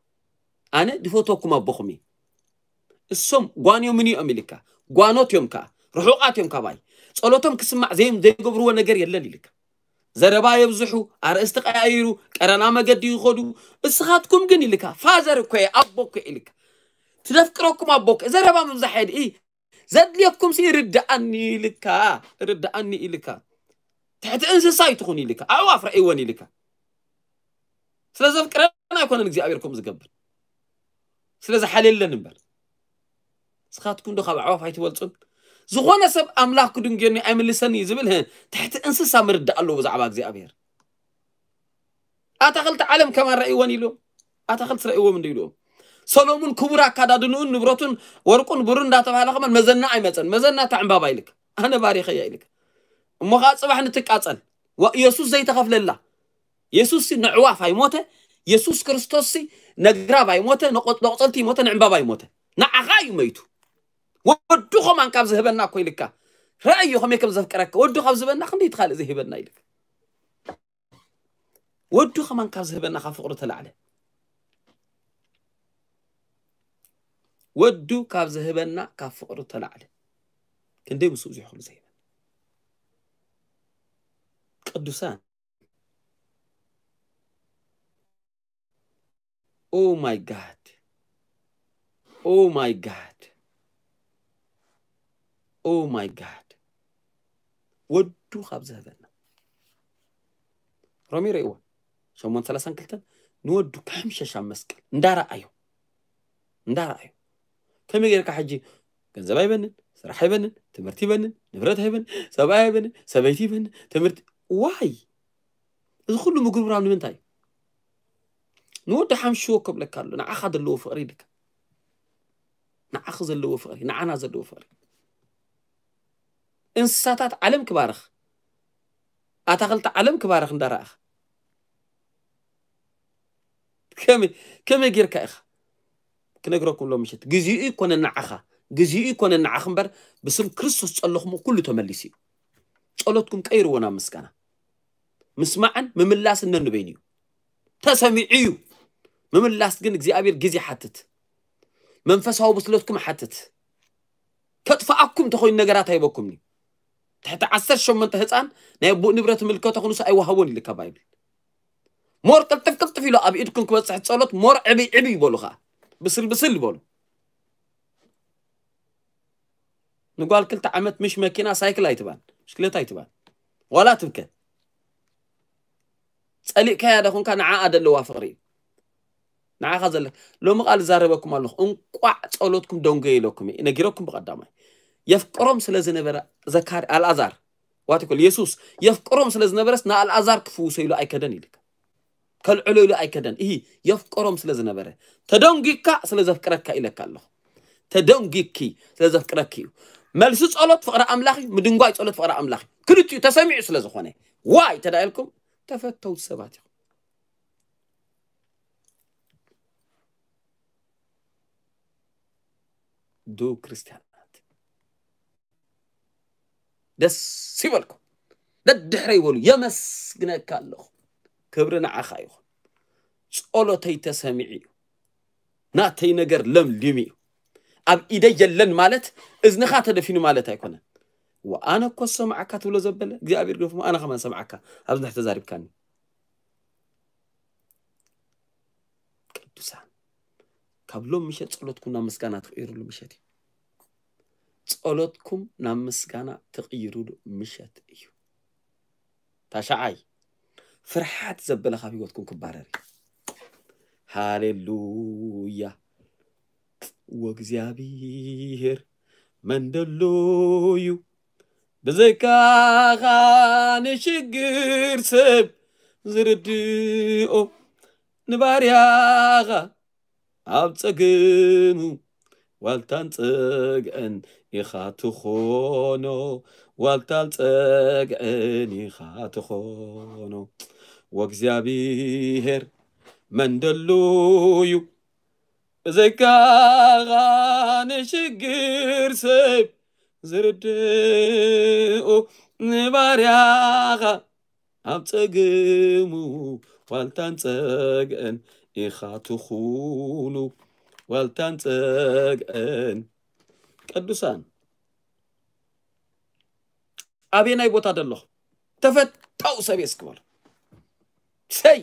ኣነ ድፈትወኩም ኣቦኹም እየ። እሶም ጓንዮምኒ እዮም ኢልካ። ጓኖት እዮም ከኣ። ርሑቓት እዮም ካባይ። ጸሎቶም ክስማዕ ዘይ-፣ ዘይገብርዎ ነገር የለን ኢልካ። ዘረባ የብዝሑ፣ ኣርእስቲ ቀያይሩ፣ ቀረና መገዲ ይኸዱ። እስኻትኩም ግን ኢልካ፣ ፋዘር እኮ እየ፣ ኣቦ እኮ እየ ኢልካ። ትደፍቅረኩም ኣቦ እኮ፣ ዘረባ ምብዛሕ የድ-፣ ኢ-፣ ዘድልየኩም ሲ ርድኣኒ ኢልካ፣ ርድኣኒ ኢልካ። ትሕቲ እንስሳ ኣይትኹን ኢልካ፣ ኣዕዋፍ ረእይወን ኢልካ። ስለ ዘፍቅረና ኣይኮነን እግዚኣብሔር ከምኡ ዝገብር። ስለ ዝሓልየለን እምበር። ንስኻትኩም ዶ ካብ ኣዕዋፍ ኣይትበልጹን? ዝኾነ ሰብ ኣምላኽ ክድንግየኒ ኣይምልሰኒ እዩ ዝብል፣ ህ፣ ትሕቲ እንስሳ ምርዳእ ኣለዎ ብዛዕባ እግዚኣብሔር። ኣታኽልቲ ዓለም ከማን ረእይወን ኢሉ። ኣታኽልቲ ረእይዎም እንዲ ኢልዎም። ሰሎሙን ክቡር ኣካዳድንኡን ንብረቱን ወርቁን ብሩን እንዳተባህለ ከማን መዘና ኣይመጸን። መዘና እታ ዕምባባ ኢልካ። ኣነ ባሪኸያ ኢልካ። እሞ ኸዓ ጽባሕ ንትቃጸል። ዋ፣ ኢየሱስ ዘይተኸፍለላ። የሱስ ሲ ንዕዋፍ ኣይሞተ። የሱስ ክርስቶስ ሲ ነግራብ ኣይሞተ፣ ንቆ-፣ ንቆጸልቲ ይሞተ፣ ንዕምባባ ይሞተ። ንዓኻ እዩ መይቱ። ወዱ ኸማን ካብ ዝህበና እኮ ኢልካ። ረኣዮ ከመይ ከም ዘፍቅረካ። ወዱ ካብ ዝህበና ክንደይ እቲ ካልእ ዘይህበና ኢልካ። ወዱ ኸማን ካብ ዝህበና ካብ ፍቕሩ ተላዕለ። ወዱ ካብ ዝህበና ካብ ፍቕሩ ተላዕለ። ክንደይ ምስኡ እዚ ኩሉ ዘይህበና። ቅዱሳን። Oh my God. Oh my God. Oh my God. ወዱ ካብ ዝህበና። ሮሜ ርእይዎ። ሸሞንተ ሰላሳን ክልተን ንወዱ ክሕምሸሽ ኣብ መስቀል እንዳረኣዮ። እንዳረኣዮ። ከመይ ጌርካ ሕጂ ገንዘብ ኣይበንን፣ ስራሕ ኣይበንን፣ ትምህርቲ ይበንን፣ ንብረት ኣይበንን፣ ሰብኣይ ኣይበንን፣ ሰበይቲ ይበንን፣ ትምህርቲ፣ ዋይ? እዚ ኩሉ ምጉርምራም ንምንታይ? ንወዲ ሓምሽዎ ከብለካ ኣሎ፣ ንዓኻ ዘለዎ ፍቕሪ ኢልካ። ንዓኺ ዘለዎ ፍቕሪ፣ ንዓና ዘለዎ ፍቕሪ። እንስሳታት ዓለም ክባርኽ፣ ኣታኽልቲ ዓለም ክባርኽ እንዳረኣኻ። ከመይ፣ ከመይ ጌርካ ኢኻ? ክነግረኩም ሎም ምሸት። ግዚኡ ይኮነ ንዓኻ፣ ግዚኡ ይኮነ ንዓኺ እምበር፣ ብስም ክርስቶስ ጸለኹሞ ኩሉ ተመሊሱ እዩ። ጸሎትኩም ቀይርዎ ናብ ምስጋና። ምስማዕን ምምላስን ነንበይኑ እዩ። ተሰሚዑ እዩ። ምምላስ ግን እግዚኣብሔር ግዜ ይሓትት። መንፈሳዊ ብስለትኩም ይሓትት። ከጥፍኣኩም እንተኾይኑ ነገራት ኣይበኩምን እዩ። ትሕቲ ዓሰርተ ሸሞንተ ህፃን ናይ ኣቦኡ ንብረት ይምልከቶ ክንሱ ኣይወሃቦን ኢልካ ባይብል። ሞር ቅልጥፍ ቅልጥፍ ኢሉ ኣብ ኢድኩም ክበፅሕ ጸሎት ሞር ዕብይ ዕብይ ይበሉ ኸዓ። ብስል ብስል ይበሉ። ንጓል ክልተ ዓመት ምሽ መኪና ሳይክል ኣይትባን፣ ብሽክሌታ ኣይትባን። ዋላ ትብከ። ጸሊእካያ ዶ ኹንካ ንዓኣ ደለዋ ፍቕሪ እዩ። ንዓኻ ዘለካ። ሎሚ ቃል እዛረበኩም ኣለኹ። እንቋዕ ጸሎትኩም ደንጎየ ኢለኩም እየ። ነጊረኩም ብቐዳማይ። የፍቅሮም ስለ ዝነበረ ዘካሪ-፣ ኣልኣዛር፣ ዋት ይኮል፣ የሱስ የፍቅሮም ስለ ዝነበረስ ንኣልኣዛር ክፍውሶ ኢሉ ኣይከደን ኢልካ። ከልዕሎ ኢሉ ኣይከደን። እሂ፣ የፍቅሮም ስለ ዝነበረ። ተደንጊካ ስለ ዘፍቅረካ ኢለካ ኣለኹ። ተደንጊኪ ስለ ዘፍቅረኪ እዩ። መልሲ ጸሎት ፍቕሪ ኣምላኽ እዩ፣ ምድንጓይ ጸሎት ፍቕሪ ኣምላኽ እዩ። ክልቲኡ ተሰሚዑ ስለ ዝኾነ። ዋይ ተዳኢልኩም ተፈተውቲ ሰባት ኢኹም። ዱ ክርስቲያናት ደስ ይበልኩም። ደድሕረ ይበሉ። የመስግነካ ኣለኹ። ክብሪ ንዓኻ ይኹን። ጸሎተይ ተሰሚዑ እዩ። ናተይ ነገር ለምሊሙ እዩ። ኣብ ኢደይ የለን ማለት እዝንኻ ተደፊኑ ማለት ኣይኮነን። ወኣነ እኮ ሰማዕካ ትብሎ ዘበለ እግዚኣብሔር ገፉ ኣነ ከማን ሰማዕካ ኣብዚ ንሕ ተዛሪብካኒ። ቅዱሳን ካብ ሎም ምሸት ጸሎትኩም ናብ ምስጋና ትቕይሩሉ ምሸት እዩ። ጸሎትኩም ናብ ምስጋና ትቕይሩሉ ምሸት እዩ። ታሻዓይ ፍርሓት ዘበለ ካብ ህይወትኩም ክባረር እዩ። ሃሌሉያ። ወእግዚኣብሔር መን ደሎ እዩ ብዘይካኻ ንሽግር ሰብ ዝርድኦ ንባርያኻ ኣብ ጸገሙ ዋልታን ጸግዕን ኢኻ ትኾኖ ዋልታን ጸግዕን ኢኻ ትኾኖ ወእግዚኣብሔር መን ደሎ እዩ ብዘይካኻ ንሽግር ሰብ ዝርድኡ ንባርያኻ ኣብ ጸግሙ ዋልታን ጸግዕን ኢኻ ትኹኑ ዋልታን ጸግዕን ቅዱሳን ኣበየናይ ቦታ ደለኹ ተፈታው ሰብ እየ እስክበሉ ሰይ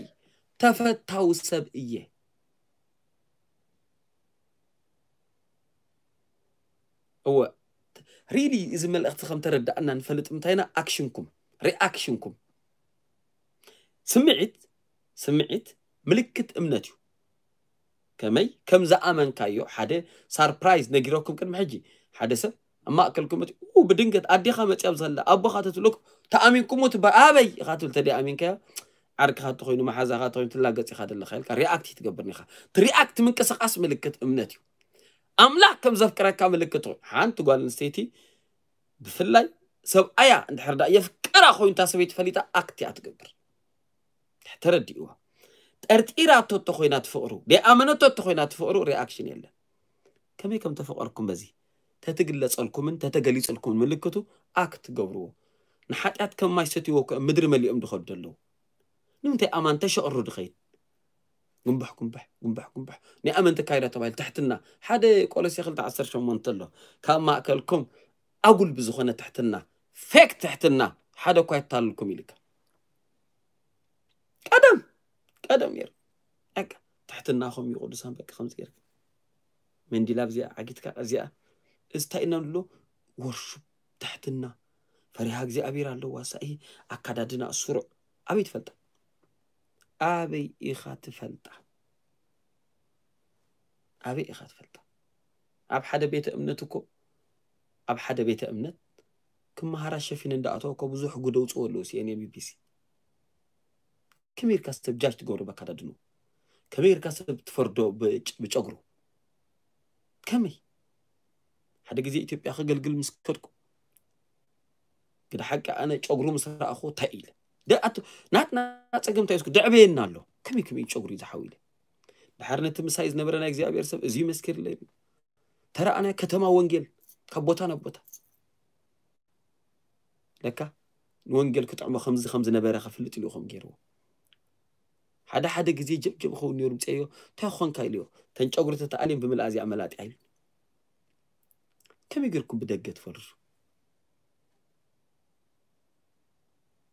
ተፈታው ሰብ እየ እወ ሪሊ እዚ መልእኽቲ ከም ተረዳእና ንፈልጥ እንታይና ኣክሽንኩም ሪኣክሽንኩም ስምዒት ስምዒት ምልክት እምነት እዩ ከመይ ከም ዝኣመንካዮ ሓደ ሳርፕራይዝ ነጊረኩም ቅድሚ ሕጂ ሓደ ሰብ ኣብ ማእከልኩም እቲ ብድንገት ኣዴኻ መፅያ ብዘላ ኣቦኻ ተትብለኩ ተኣሚንኩሞ ትበሃል ኣበይ ኢኻ ትብል ተደይ ኣሚንካዮ ዓርክኻ ተኮይኑ መሓዛኻ ተኮይኑ ትላገፅ ኢኻ ዘለኻ ኢልካ ሪኣክት ትገብር ኒኻ እቲ ሪኣክት ምንቅስቃስ ምልክት እምነት እዩ ኣምላኽ ከም ዘፍቅረካ ምልክት እዩ ሓንቲ ጓል ኣንስተይቲ ብፍላይ ሰብኣያ እንድሕር ዳ የፍቅራ ኮይኑ እታ ሰበይቲ ፈሊጣ ኣክት እያ ትገብር ተረዲእዋ ጠርጢራቶ እተኮይና ትፍቅሩ ደይኣመነቶ እተኮይና ትፍቅሩ ሪኣክሽን የለን ከመይ ከም ተፈቀርኩም በዚ ተትግለጸልኩምን ተተገሊጽልኩምን ምልክቱ ኣክት ገብርዎ ንሓጢኣት ከም ማይ ሰትይዎ እኮ ምድሪ መሊኦም ድኸዱ ዘለዉ ንምንታይ ኣማን ተሸቕሩ ድኸይድ ጉንባሕ ጉንባሕ ጉንባሕ ጉንባሕ ናይ ኣመንቲ ካይዳ ተባሂሉ ትሕትና ሓደ ቆሎሴ ክልተ ዓሰርተ ሸሞንተ ኣሎ ካብ ማእከልኩም ኣጉል ብዝኾነ ትሕትና ፌክ ትሕትና ሓደ እኳ የታልልኩም ኢልካ ቀደም ቀደም ነይሩ በቃ ትሕትና ከም እዩ ቅዱሳን በቃ ከምዚ ገይርካ መንዲላ ብዚኣ ዓጊትካ እዚኣ እዚ እንታይ ኢና ንብሎ ወርሹ ትሕትና ፈሪሃ እግዚኣብሔር ኣለዋ ሳኢ ኣካዳድና ስሩዕ ኣበይ ትፈልጣ ኣበይ ኢኻ ትፈልጣ ኣበይ ኢኻ ትፈልጣ ኣብ ሓደ ቤተ እምነት እኮ ኣብ ሓደ ቤተ እምነት ክመሃራ ሸፊን እንዳኣተዋ እኮ ብዙሕ ጉደውፅዎ ኣለዉ ሲኤንኤ ቢቢሲ ከመይ ኢልካ ሰብ ጃጅ ትገብሮ በካዳድኑ ከመይ ኢልካ ሰብ ትፈርዶ ብጨጉሩ ከመይ ሓደ ግዜ ኢትዮጵያ ከገልግል ምስ ከድኩ ግደ ሓቂ ኣነ ጨጉሩ ምስ ረኣኹ እንታይ ኢለ ደኣቱ ናትና ፀገም እንታይ ስኩ ደዕበየና ኣሎ ከመይ ከመይ ጨጉሩ ዝሓው ኢለ ድሓር ነቲ ምሳይ ዝነበረ ናይ እግዚኣብሔር ሰብ እዚ መስኪርለይ ተረኣናዮ ከተማ ወንጌል ካብ ቦታ ናብ ቦታ ለካ ንወንጌል ክጥዕሞ ከምዚ ከም ዝነበረ ከፍልጥ ኢሉ ከም ገይርዎ ሓደ ሓደ ግዜ ጀብጀብ ኸውን ነይሩ ምፅዮ እንታይ ኾንካ ኢልዮ ተን ጨጉሪ ተተኣልዮም ብምልኣ እዚኣ መላጢ ኣይሉ ከመይ ገርኩም ብደገ ትፈርሱ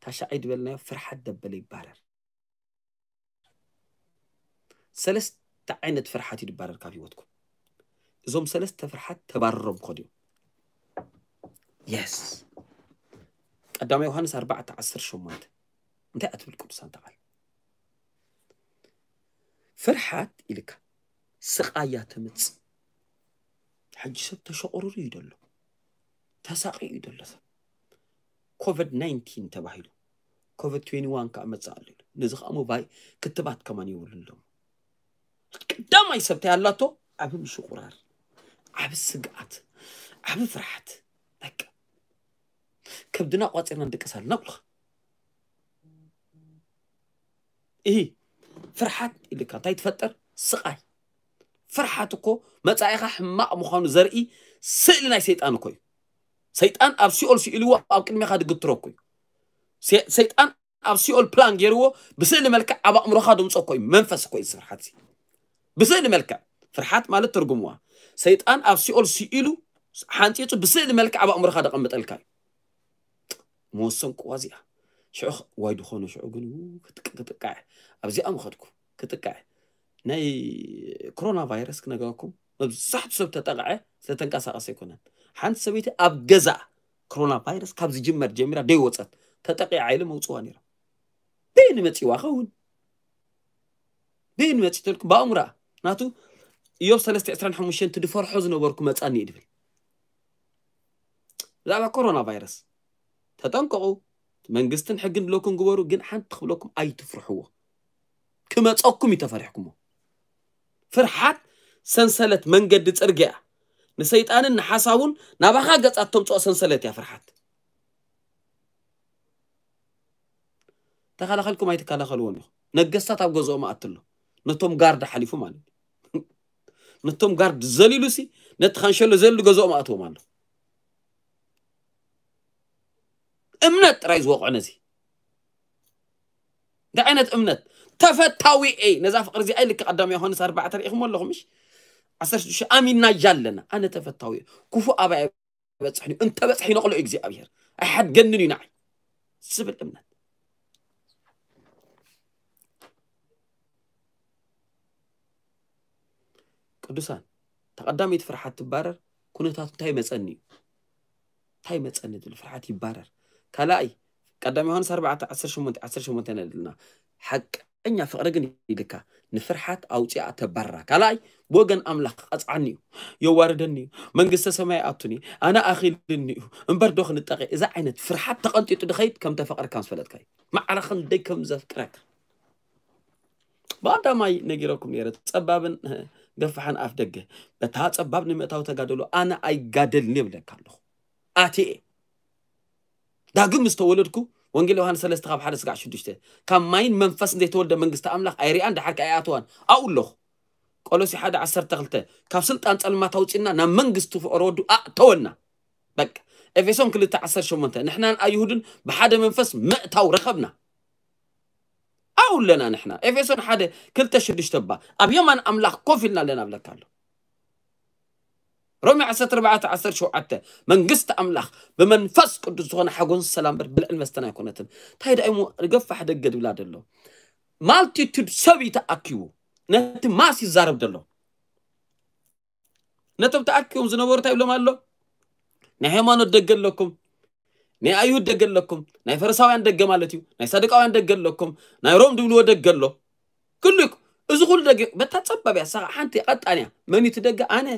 ታሻዓይ ድበልናዮ ፍርሓት ደበለ ይባረር ሰለስተ ዓይነት ፍርሓት ይድባረር ካብ ህይወትኩም እዞም ሰለስተ ፍርሓት ተባረሮም ክኸዱ እዮም የስ ቀዳማይ ዮሃንስ ኣርባዕተ ዓሰርተ ሸሞንተ እንታይ ኣትብል ቅዱሳን ተቓል ፍርሓት ኢልካ ስቓያ ተምጽእ ሕጂ ሰብ ተሸቑሩሩ እዩ ደሎ ተሳቒ እዩ ደሎ ሰብ ኮቪድ ናይንቲን ተባሂሉ ኮቪድ ትዌንቲ ዋን ከዓ መፅእ ኣሎ ኢሉ ነዚ ከዓ ሞባይ ክትባት ከማን የብሉን ሎም ቀዳማይ ሰብታይ ኣላቶ ዓብ ምሽቁራር ዓብ ስግኣት ዓብ ፍርሓት በቃ ከብድና ቋፂርና ንድቅስ ኣለና ብልኻ እሂ፣ ፍርሓት ኢልካ እንታይ ትፈጥር? ስቓይ። ፍርሓት እኮ መጻኢኻ ሕማቕ ምዃኑ ዘርኢ ስእሊ ናይ ሰይጣን እኮ እዩ። ሰይጣን ኣብ ሲኦል ስኢልዎ ኣብ ቅድሜኻ ድግትሮ እኮ እዩ። ሰ-፣ ሰይጣን ኣብ ሲኦል ፕላን ገይርዎ ብስእሊ መልክዕ ኣብ ኣእምሮኻ ድምጾ እኮ እዩ። መንፈስ እኮ እዩ ፍርሓት እዚ። ብስእሊ መልክዕ ፍርሓት ማለት ትርጉምዋ፣ ሰይጣን ኣብ ሲኦል ስኢሉ ሓንጺጹ ብስእሊ መልክዕ ኣብ ኣእምሮኻ ደቐምጠልካ እዩ። መወሰንኩዋ እዚኣ። ሽዑ ኽ-፣ ዋይ ድኾነ ሽዑ ግን ው-፣ ክጥቅ-፣ ክጥቃዕ። ኣብዚኣ ምኸድኩ ክጥቃዕ። ናይ ኮሮና ቫይረስ ክነገረኩም፣ መብዛሕቱ ሰብ ተጠቕዐ፣ ዝተተንቀሳቐሰ ኣይኮነን። ሓንቲ ሰበይቲ ኣብ ገዛ ኮሮና ቫይረስ ካብ ዝጅመር ጀሚራ ደይወጸት፣ ተጠቂዓ ኢለ መውጽዋ ነይራ። በይን መጺዋ ኸውን? በይን መጺተልኩም? ብኣእምሮኣ። ናቱ ኢዮብ ሰለስተ ዕስራን ሓሙሽተን፣ "እቲ ድፈርሖ ዝነበርኩ መጻኒ" እዩ ድብል። ብዛዕባ ኮሮና ቫይረስ ተጠንቀቑ። መንግስትን ሕግን ድለኩም ግበሩ፣ ግን ሓንቲ ክብለኩም ኣይትፍርሕዎ። ክመጸኩም እዩ ተፈሪሕኩሞ። ፍርሓት ሰንሰለት መንገዲ ጽርግያ። ንሰይጣንን ንሓሳቡን ናባኻ ገጻት ተምጽኦ ሰንሰለት እያ ፍርሓት። ተኸላኸልኩም ኣይትከላኸልዎን ኢኹም። ነገስታት ኣብ ገዝኦም ኣትሎ። ነቶም ጋርድ ሓሊፉ ማለት እዩ። ነቶም ጋርድ ዘሊሉሲ ነቲ ካንሸሎ ዘሊሉ ገዝኦም ኣትዎም ኣሎ። እምነት ጥራይ ዝወቕዖ ነዚ። እንታይ ዓይነት እምነት? ተፈታዊ እየ። ነዛ ፍቕሪ እዚኣ ኢልካ ቀዳማይ ዮሃንስ ኣርባዕተ ርኢኹሞ ኣለኹም፣ ምሽ? ዓሰርተ ሽዱሽተ ኣሚንና እያ ኣለና። ኣነ ተፈታዊ እየ። ክፉእ ኣባይ ኣይበጽሕን እዩ። እንተበጽሐ ይነቕሎ እዩ እግዚኣብሔር። ኣይሓድገንን እዩ ንዓይ። ዝብል እምነት። ቅዱሳን፣ ተቐዳመይቲ ፍርሓት ትባረር፣ ኩነታቱ እንታይ መጸኒ እዩ? እንታይ መጸኒ ዝብል ፍርሓት ይባረር። ካልኣይ፣ ቀዳም ዮሃንስ ኣርባዕተ ዓሰርተ ሸሞንተ፣ ዓሰርተ ሸሞንተ ንርኢ ኣለና። ሓቀኛ ፍቕሪ ግን ኢልካ ንፍርሓት ኣውጺኣ ተባርራ። ካልኣይ፣ ብወገን ኣምላኽ ክቐጽዓኒ እዩ፣ የዋርደኒ እዩ፣ መንግስተ ሰማይ ኣቱኒ፣ ኣነ ኣኺልኒ እዩ፣ እምበር ዶ ክንጠቐ? እዛ ዓይነት ፍርሓት ተቐንጢጡ ድኸይድ ከም ተፈቕረካ ምስ ፈለጥካ እዩ። ማዕረ ክንደይ ከም ዘፍቅረካ። ብቐዳማይ ነጊረኩም ነይረ፣ ጸባብን፣ እ፣ ገፋሕን ኣፍ ደገ። በታ ጸባብ ንምእታው ተጋደሉ፣ ኣነ ኣይጋደልን እየ እብለካ ኣለኹ። ኣትየ። ዳግም ምስ ተወለድኩ፣ ወንጌል ዮሃንስ ሰለስተ ካብ ሓደ ስጋዕ ሽዱሽተ፣ ካብ ማይን መንፈስን ዘይተወልደ መንግስቲ ኣምላኽ ኣይሪኣን፣ ደሓር ከኣ ኣይኣትዋን። ኣብኡ ኣለኹ። ቆሎሲ ሓደ ዓሰርተ ክልተ፣ ካብ ስልጣን ጸልማት ኣውጺእና ናብ መንግስቲ ፍቕሪ ወዱ ኣእተወና። በቃ። ኤፌሶን ክልተ ዓሰርተ ሸሞንተ፣ ንሕናን ኣይሁድን ብሓደ መንፈስ ምእታው ረኸብና። ኣብኡ ኣለና ንሕና። ኤፌሶን ሓደ ክልተ ሽዱሽተ፣ እባ ኣብ የማን ኣምላኽ ኮፍ ኢልና ኣለና እብለካ ኣሎ። ሮሜ ዓሰርተ ኣርባዕተ ዓሰርተ ሸውዓተ፣ መንግስቲ ኣምላኽ ብመንፈስ ቅዱስ ዝኾነ ሓጎስን ሰላም እምበር ብልዕን መስተን ኣይኮነትን። እንታይ ደኣ እሞ ገፋሕ ደገ ድብላ ደሎ? ማልቲቱድ ሰብ እዩ ተኣኪቡ ነቲ ማስ ይዛረብ ደሎ። ነቶም ተኣኪቦም ዝነበሩ እንታይ ይብሎም ኣሎ? ናይ ሃይማኖት ደገ ኣለኩም፣ ናይ ኣይሁድ ደገ ኣለኩም፣ ናይ ፈሪሳውያን ደገ ማለት እዩ፣ ናይ ሳዱቃውያን ደገ ኣለኩም፣ ናይ ሮም ድብልዎ ደገ ኣሎ። ኩሉ ይኩ-፣ እዚ ኩሉ ደገ በታ ጸባብ እያ፣ ሳኻ ሓንቲ ቀጣን እያ። መን እዩ እቲ ደገ? ኣነ።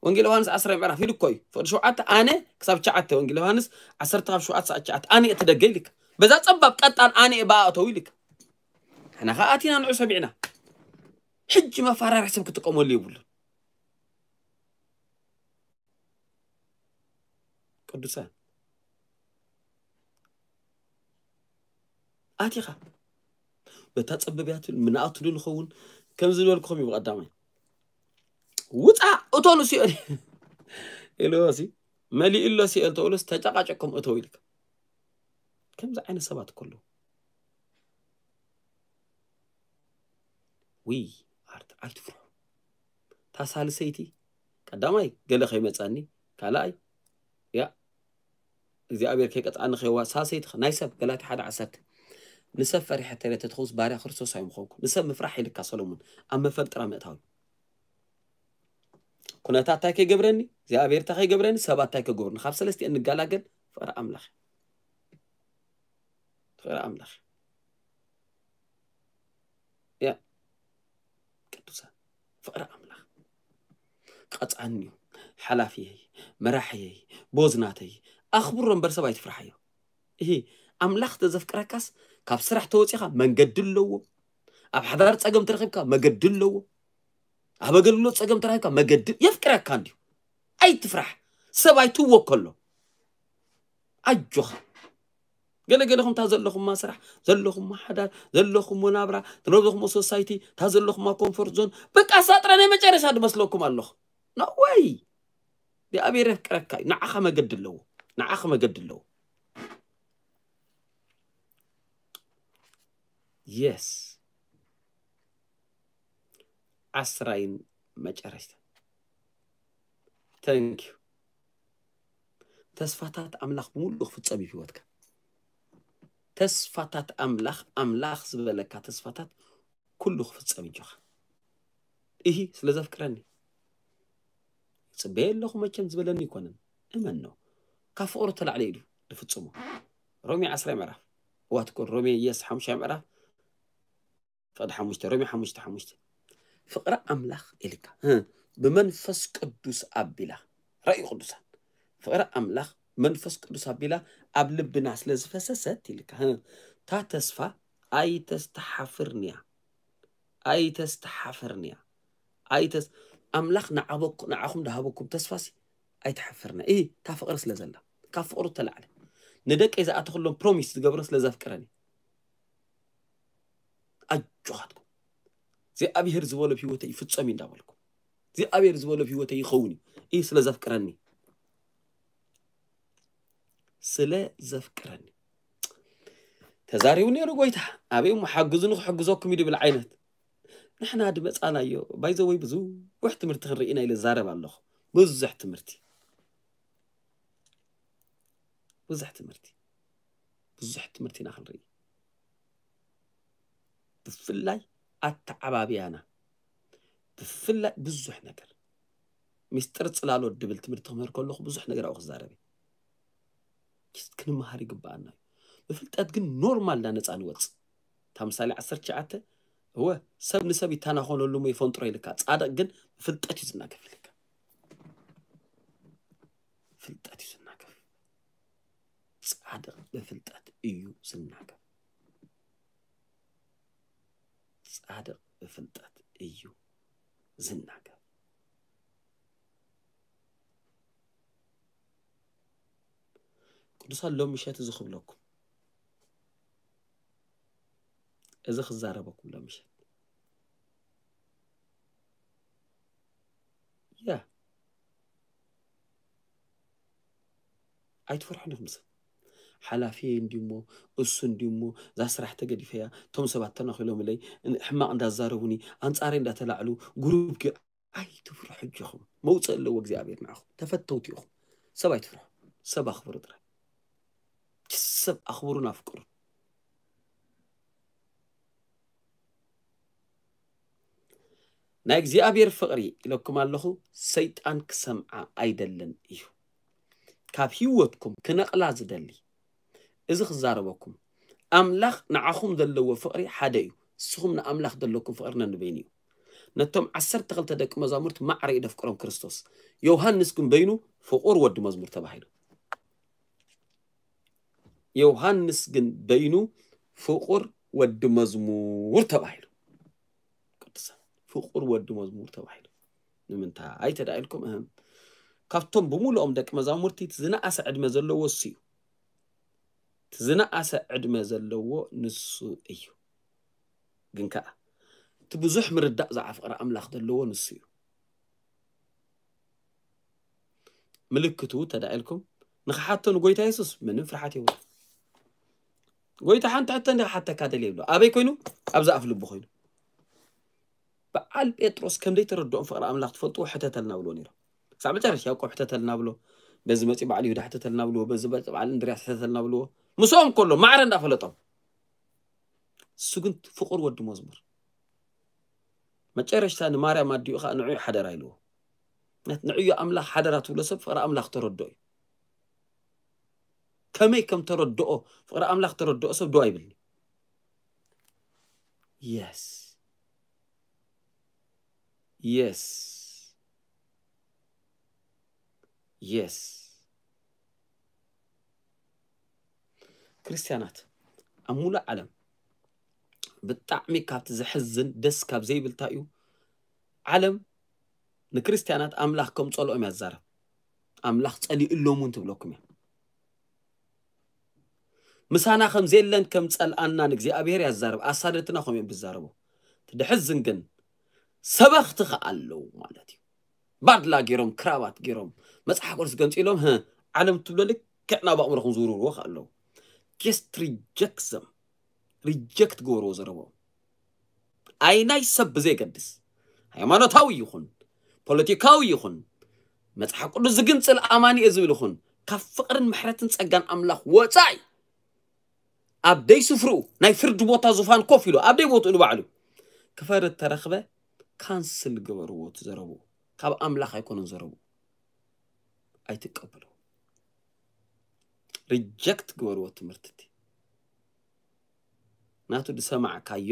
ወንጌል ዮሃንስ ዓስራይ ምዕራፍ ኢሉ እኮ እዩ። ፍቕዲ ሸውዓተ ኣነ ክሳብ ትሽዓተ፣ ወንጌል ዮሃንስ ዓሰርተ ካብ ሸውዓተ ሳዕ ትሽዓተ፣ ኣነ እቲ ደገ ኢልካ። በዛ ጸባብ ቀጣን ኣነ እየ ብኣ እተው ኢልካ። ንሕና ኸኣ ኣቲና ንዑ ሰሚዕና። ሕጂ መፈራርሒ ሰብ ክጥቀመሉ የብሉን። ቅዱሳን፣ ኣቲኻ በታ ጸበብ እያ ትብል፣ ምንኣቱ ዶ ንኸውን? ከምዚ ዝበልኩኹም እዩ ብቐዳማይ። ውጻእ እቶ ንስኦ ኢልዎ ሲ፣ መሊኡ ኣሎ ሲኦል ተብሎስ ተጨቃጨቅኩም እተው ኢልካ። ከምዚ ዓይነት ሰባት እኮ ኣለዉ። ውይ፣ ኣርት-፣ ኣይትፍርሑ። እታ ሳልሰይቲ፣ ቀዳማይ፣ ገለ ከይመጻኒ፣ ካልኣይ፣ ያ፣ እግዚኣብሔር ከይቀጽዓኒ ከይዋ-፣ ሳልሰይቲ፣ ናይ ሰብ፣ ገላትያ ሓደ ዓሰርተ፣ ንሰብ ፈሪሐ ተረተ ትኸውስ ባርያ ክርስቶስ ኣይምኾንኩ። ንሰብ ምፍራሕ ኢልካ ሰሎሞን፣ ኣብ መፈንጥራ ምእታው። ኩነታት እንታይ ከይገብረኒ፣ እግዚኣብሔር እንታይ ከይገብረኒ፣ ሰባት እንታይ ከይገብሩኒ፣ ካብ ሰለስቲኤን ንገላገል፣ ፍቕሪ ኣምላኽ። ፍቕሪ ኣምላኽ። ያ፣ ቅዱሳን፣ ፍቕሪ ኣምላኽ። ቀጽዓኒ እዩ፣ ሓላፊየይ፣ መራሕየይ፣ ቦዝናተይ፣ ኣኽብሮ እምበር ሰብ ኣይትፍርሓዮ። እሂ፣ ኣምላኽ ተዘፍቅረካስ፣ ካብ ስራሕ ተወጺኻ መንገዲ ኣለዎ። ኣብ ሓዳር ጸገም ተረኺብካ መገዲ ኣለዎ። ኣብ ኣገልግሎት ጸገም ተረኺብካ መገዲ የፍቅረካ እንድዩ። ኣይትፍራሕ። ሰብ ኣይትወከሎ። ኣጆኻ። ገለገለኹም እታ ዘለኹማ ስራሕ፣ ዘለኹማ ሓዳር፣ ዘለኹሞ ናብራ፣ ዘለኹሞ ሶሳይቲ፣ እታ ዘለኹማ ኮምፎርት ዞን፣ በቃ ሳጥራ ናይ መጨረሻ ድመስለኩም ኣለኹ። No way። እግዚኣብሔር የፍቅረካ እዩ። ንዓኻ መገዲ ኣለዎ። ንዓኻ መገዲ ኣለዎ። የስ። ዓስራይን መጨረሽታ። ተንክ ዩ። ተስፋታት ኣምላኽ ብምሉእ ክፍጸም እዩ ህይወትካ። ተስፋታት ኣምላኽ ኣምላኽ ዝበለካ ተስፋታት ኩሉ ክፍጸም እጆኻ። እሂ ስለ ዘፍቅረኒ ጽበየ ኣለኹ መቸም ዝበለኒ ኣይኮነን። እመን ነው። ካብ ፍቕሩ ተላዕለ ኢሉ ዝፍጽሞ። ሮሜ ዓስራይ ምዕራፍ። እዋ ትኮን ሮሜ የስ ሓሙሻይ ምዕራፍ። ፍቕዲ ሓሙሽተ ሮሜ ሓሙሽተ ሓሙሽተ። ፍቕሪ ኣምላኽ ኢልካ እ፣ ብመንፈስ ቅዱስ ኣቢላ ራእዩ ቅዱሳን ፍቕሪ ኣምላኽ መንፈስ ቅዱስ ኣቢላ ኣብ ልብና ስለ ዝፈሰሰት ኢልካ እ፣ እታ ተስፋ ኣይተስተሓፍርንያ ኣይተስተሓፍርንያ ኣይተስ ኣምላኽ ንዓበኩ ንዓኹም ዝሃበኩም ተስፋሲ ኣይተሓፍርና እ እታ ፍቕሪ ስለ ዘላ ካብ ፍቕሩ ተላዕለ ንደቀይ ዝኣተኽሎም ፕሮሚስ ዝገብረ ስለ ዘፍቅረኒ ኣጆኻትኩም እግዚኣብሔር ዝበሎ ኣብ ህይወተይ ይፍጸም እዩ እንዳበልኩም እግዚኣብሔር ዝበሎ ኣብ ህይወተይ ይኸውን እዩ እዩ ስለ ዘፍቅረኒ ስለ ዘፍቅረኒ ተዛሪቡ ነይሩ ጎይታ ኣበይ እሞ ሓግዙ ንክሕግዘኩም እዩ ድብል ዓይነት ንሕና ድመፃናዮ ባይዘወይ ብዙሕ ትምህርቲ ክንርኢ ኢና ኢለ ዛረብ ኣለኹ ብዙሕ ትምህርቲ ብዙሕ ትምህርቲ ብዙሕ ትምህርቲ ኢና ክንርኢ ብፍላይ ኣተዓባብያና ብፍላይ ብዙሕ ነገር ሚስጥር ፅላሎት ድብል ትምህርቲ ክምህር ከለኹ ብዙሕ ነገር ኣብኡ ክዛረብ ክንመሃር ይግበኣና እዩ ብፍልጠት ግን ኖርማል ዳነፃ ንወፅ እታ ምሳሌ ዓሰርተ ትሽዓተ እወ ሰብ ንሰብ ይተናኾነሉ ሞ ይፈንጥሮ ኢልካ ፃድቕ ግን ብፍልጠት እዩ ዝናገፍ ኢልካ ፍልጠት እዩ ዝናገፍ ጻድቕ ብፍልጠት እዩ ዝናገፍ። ጻድቕ ብፍልጠት እዩ ዝናገፍ። ቅዱሳን ሎም ምሸት እዚ ክብለኩም እዚ ክዛረበኩም ሎም ምሸት ያ ኣይትፈርሑን ኢኹም ሰብ ሓላፊ እንዲሞ እሱ እንዲሞ እዛ ስራሕ ተገዲፈያ እቶም ሰባት ተናኺሎምለይ ሕማቕ እንዳዛረቡኒ ኣንጻረይ እንዳተላዕሉ ጉሩብ ኣይትፍርሑ እጆኹም መውፅእ ኣለዎ እግዚኣብሔር ንዓኹም ተፈተውቲ ኢኹም ሰብ ኣይትፍርሑ ሰብ ኣኽብሩ ጥራይ ሰብ ኣኽብሩን ኣፍቅሩን ናይ እግዚኣብሔር ፍቕሪ ኢለኩም ኣለኹ ሰይጣን ክሰምዓ ኣይደልን እዩ ካብ ህይወትኩም ክነቕላ ዝደሊ እዚ ክዛረበኩም ኣምላኽ ንዓኹም ዘለዎ ፍቕሪ ሓደ እዩ ንስኹም ንኣምላኽ ዘለኩም ፍቕሪ ነንበይኑ እዩ ነቶም ዓሰርተ ክልተ ደቂ መዛሙርት ማዕረ እዩ ደፍቅሮም ክርስቶስ ዮሃንስ ግን በይኑ ፍቑር ወዲ መዝሙር ተባሂሉ ዮሃንስ ግን በይኑ ፍቑር ወዲ መዝሙር ተባሂሉ ቅዱሳን ፍቑር ወዲ መዝሙር ተባሂሉ ንምንታይ ተዳኢልኩም እህም ካብቶም ብምሉኦም ደቂ መዛሙርቲ እቲ ዝነኣሰ ዕድመ ዘለዎ እሱ እዩ እቲ ዝነኣሰ ዕድመ ዘለዎ ንሱ እዩ ግን ከዓ እቲ ብዙሕ ምርዳእ ዝዓፍቕሪ ኣምላኽ ዘለዎ ንሱ እዩ ምልክቱ ተዳኢልኩም ንኽሓቶ ንጎይታ የሱስ ምንም ፍርሓት የብሉ ጎይታ ሓንቲ ሕቶ እንዲ ክሓተካ ደልየ ይብሎ ኣበይ ኮይኑ ኣብዚ ኣፍ ልቡ ኮይኑ በዓል ጴጥሮስ ከም ዘይተረድኦም ፍቕሪ ኣምላኽ ትፈልጥዎ ሕተተልና ብልዎ ነይሮም ክሳብ መጨረሻ ያዕቆብ ሕተተልና ብሎ በዚ መፂ በዓል ይሁዳ ሕተተልና ብልዎ በዚ መፂ በዓል እንድርያስ ሕተተልና ብልዎ ምስኦም ከሎ ማዕረ እንዳፈለጦም እሱ ግን ፍቑር ወዲ መዝሙር መጨረሽታ ንማርያም ኣዲኡ ከዓ ንዑ ሓደራ ኢልዎ ንዕዮ ኣምላኽ ሓደራ ትብሎ ሰብ ፍቕሪ ኣምላኽ ተረድኦ እዩ ከመይ ከም ተረድኦ ፍቕሪ ኣምላኽ ተረድኦ ሰብ ዶ ኣይብልኒ የስ የስ የስ ክርስትያናት ኣብ ሙሉእ ዓለም ብጣዕሚ ካብቲ ዘሕዝን ደስ ካብ ዘይብልታ እዩ ዓለም ንክርስትያናት ኣምላኽ ከም ጸልኦም ያዛረብ ኣምላኽ ጸሊእሎም እውን ትብለኩም እያ ምሳና ከም ዘየለን ከም ጸልኣናን እግዚኣብሔር ያዛርብ። ኣሳደድትና ከም እዮም ብዛረቡ። ትድሕዝን ግን ሰበኽቲ ከኣ ኣለዉ ማለት እዩ። ባድላ ገይሮም፣ ክራባት ገይሮም፣ መጽሓፍ ቅዱስ ገንጺሎም፣ "ህ፣ ዓለም ትብሎ ልክዕ ናብ ኣእምሮኹም ዝውርውርዎ ከኣ ኣለዉ." Just reject them። ሪጀክት ግበርዎ ዘረቦም። ኣይናይ ሰብ ብዘይገድስ፣ ሃይማኖታዊ ይኹን፣ ፖለቲካዊ ይኹን፣ መጽሓፍ ቅዱስ ዝግንጽል ኣማኒ እየ ዝብል ይኹን፣ ካብ ፍቕርን ምሕረትን ጸጋን ኣምላኽ ወጻኢ፣ ኣብ ደይ ስፍርኡ ናይ ፍርዲ ቦታ ዙፋን ኮፍ ኢሉ፣ ኣብ ደይ ቦትኡ ንባዕሉ ክፈርድ ተረኽበ፣ ካንስል ግበርዎ እቲ ዘረብኡ። ካብ ኣምላኽ ኣይኮነን ዘረብኡ። ኣይትቀበሉ። ሪጀክት ግበርዎ ትምህርቲ እቲ። ናቱ ዝሰማዕካዮ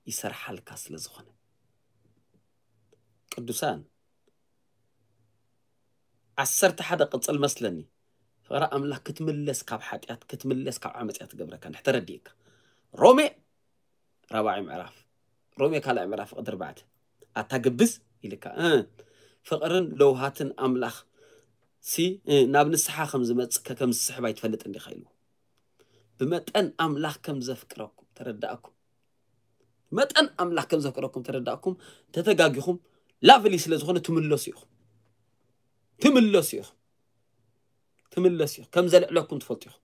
ይሰርሓልካ ስለ ዝኾነ። ቅዱሳን፣ ዓሰርተ ሓደ ቅጽል መስለኒ። ፍቕሪ ኣምላኽ ክትምለስ ካብ ሓጢኣት፣ ክትምለስ ካብ ዓመጽ እያ ትገብረካ። እንድሕር ተረዲእካ። ሮሜ ራብዓይ ምዕራፍ፣ ሮሜ ካልኣይ ምዕራፍ ፍቕዲ ኣርባዕተ። ኣታ ግብዝ ኢልካ፣ እ፣ ፍቕርን ለውሃትን ኣምላኽ ሲ፣ እ፣ ናብ ንስሓ ከም ዝመጽእ ከ-፣ ከም ዝስሕብ ኣይትፈልጥን ዲኻ ኢልዎ። ብመጠን ኣምላኽ ከም ዘፍቅረኩም ተረዳእኩም። መጠን ኣምላኽ ከም ዘፍቅረኩም ተረዳእኩም፣ ተተጋጊኹም ላቭሊ ስለ ዝኾነ ትምለሱ ኢኹም። ትምለሱ ኢኹም። ትምለሱ ኢኹም። ከም ዘልዕለኩም ትፈልጡ ኢኹም።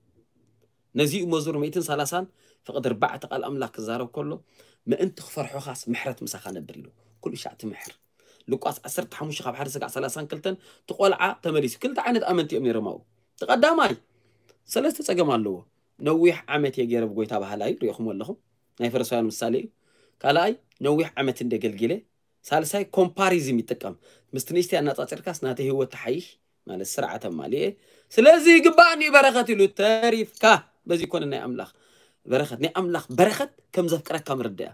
ነዚ እዩ መዝሙር ሚእትን ሰላሳን ፍቕዲ ኣርባዕተ ቃል ኣምላኽ ክዛረብ ከሎ፣ "ምእንቲ ክፈርሑኻስ ምሕረት ምሳኻ ነብር" ኢሉ። ኩሉ ሻዕ ትምሕር። ሉቃስ ዓሰርተ ሓሙሽተ ካብ ሓደ ስጋዕ ሰላሳን ክልተን፣ እቲ ቆልዓ ተመሊሱ። ክልተ ዓይነት ኣመንቲ እዮም ነይሮም ኣብኡ። እቲ ቀዳማይ፣ ሰለስተ ጸገም ኣለዎ። ነዊሕ ዓመት እየ ገይረ ብጎይታ በሃላይ፣ ሪኢኹም ኣለኹም። ናይ ፈሪሳውያን ምሳሌ እዩ። ካልኣይ፣ ነዊሕ ዓመት እንደ ገልጊለ። ሳልሳይ፣ ኮምፓሪዝም ይጥቀም። ምስቲ ንእሽተይ ኣነጻጺርካስ ናተይ ህይወት ትሓይሽ፣ ማለት ስርዓት ኣማሊኤ። ስለዚ ይግባእኒ በረኸት ኢሉ ተሪፍካ። በዚ ይኮነ ናይ ኣምላኽ በረኸት። ናይ ኣምላኽ በረኸት ከም ዘፍቅረካ ምርዳእ እያ።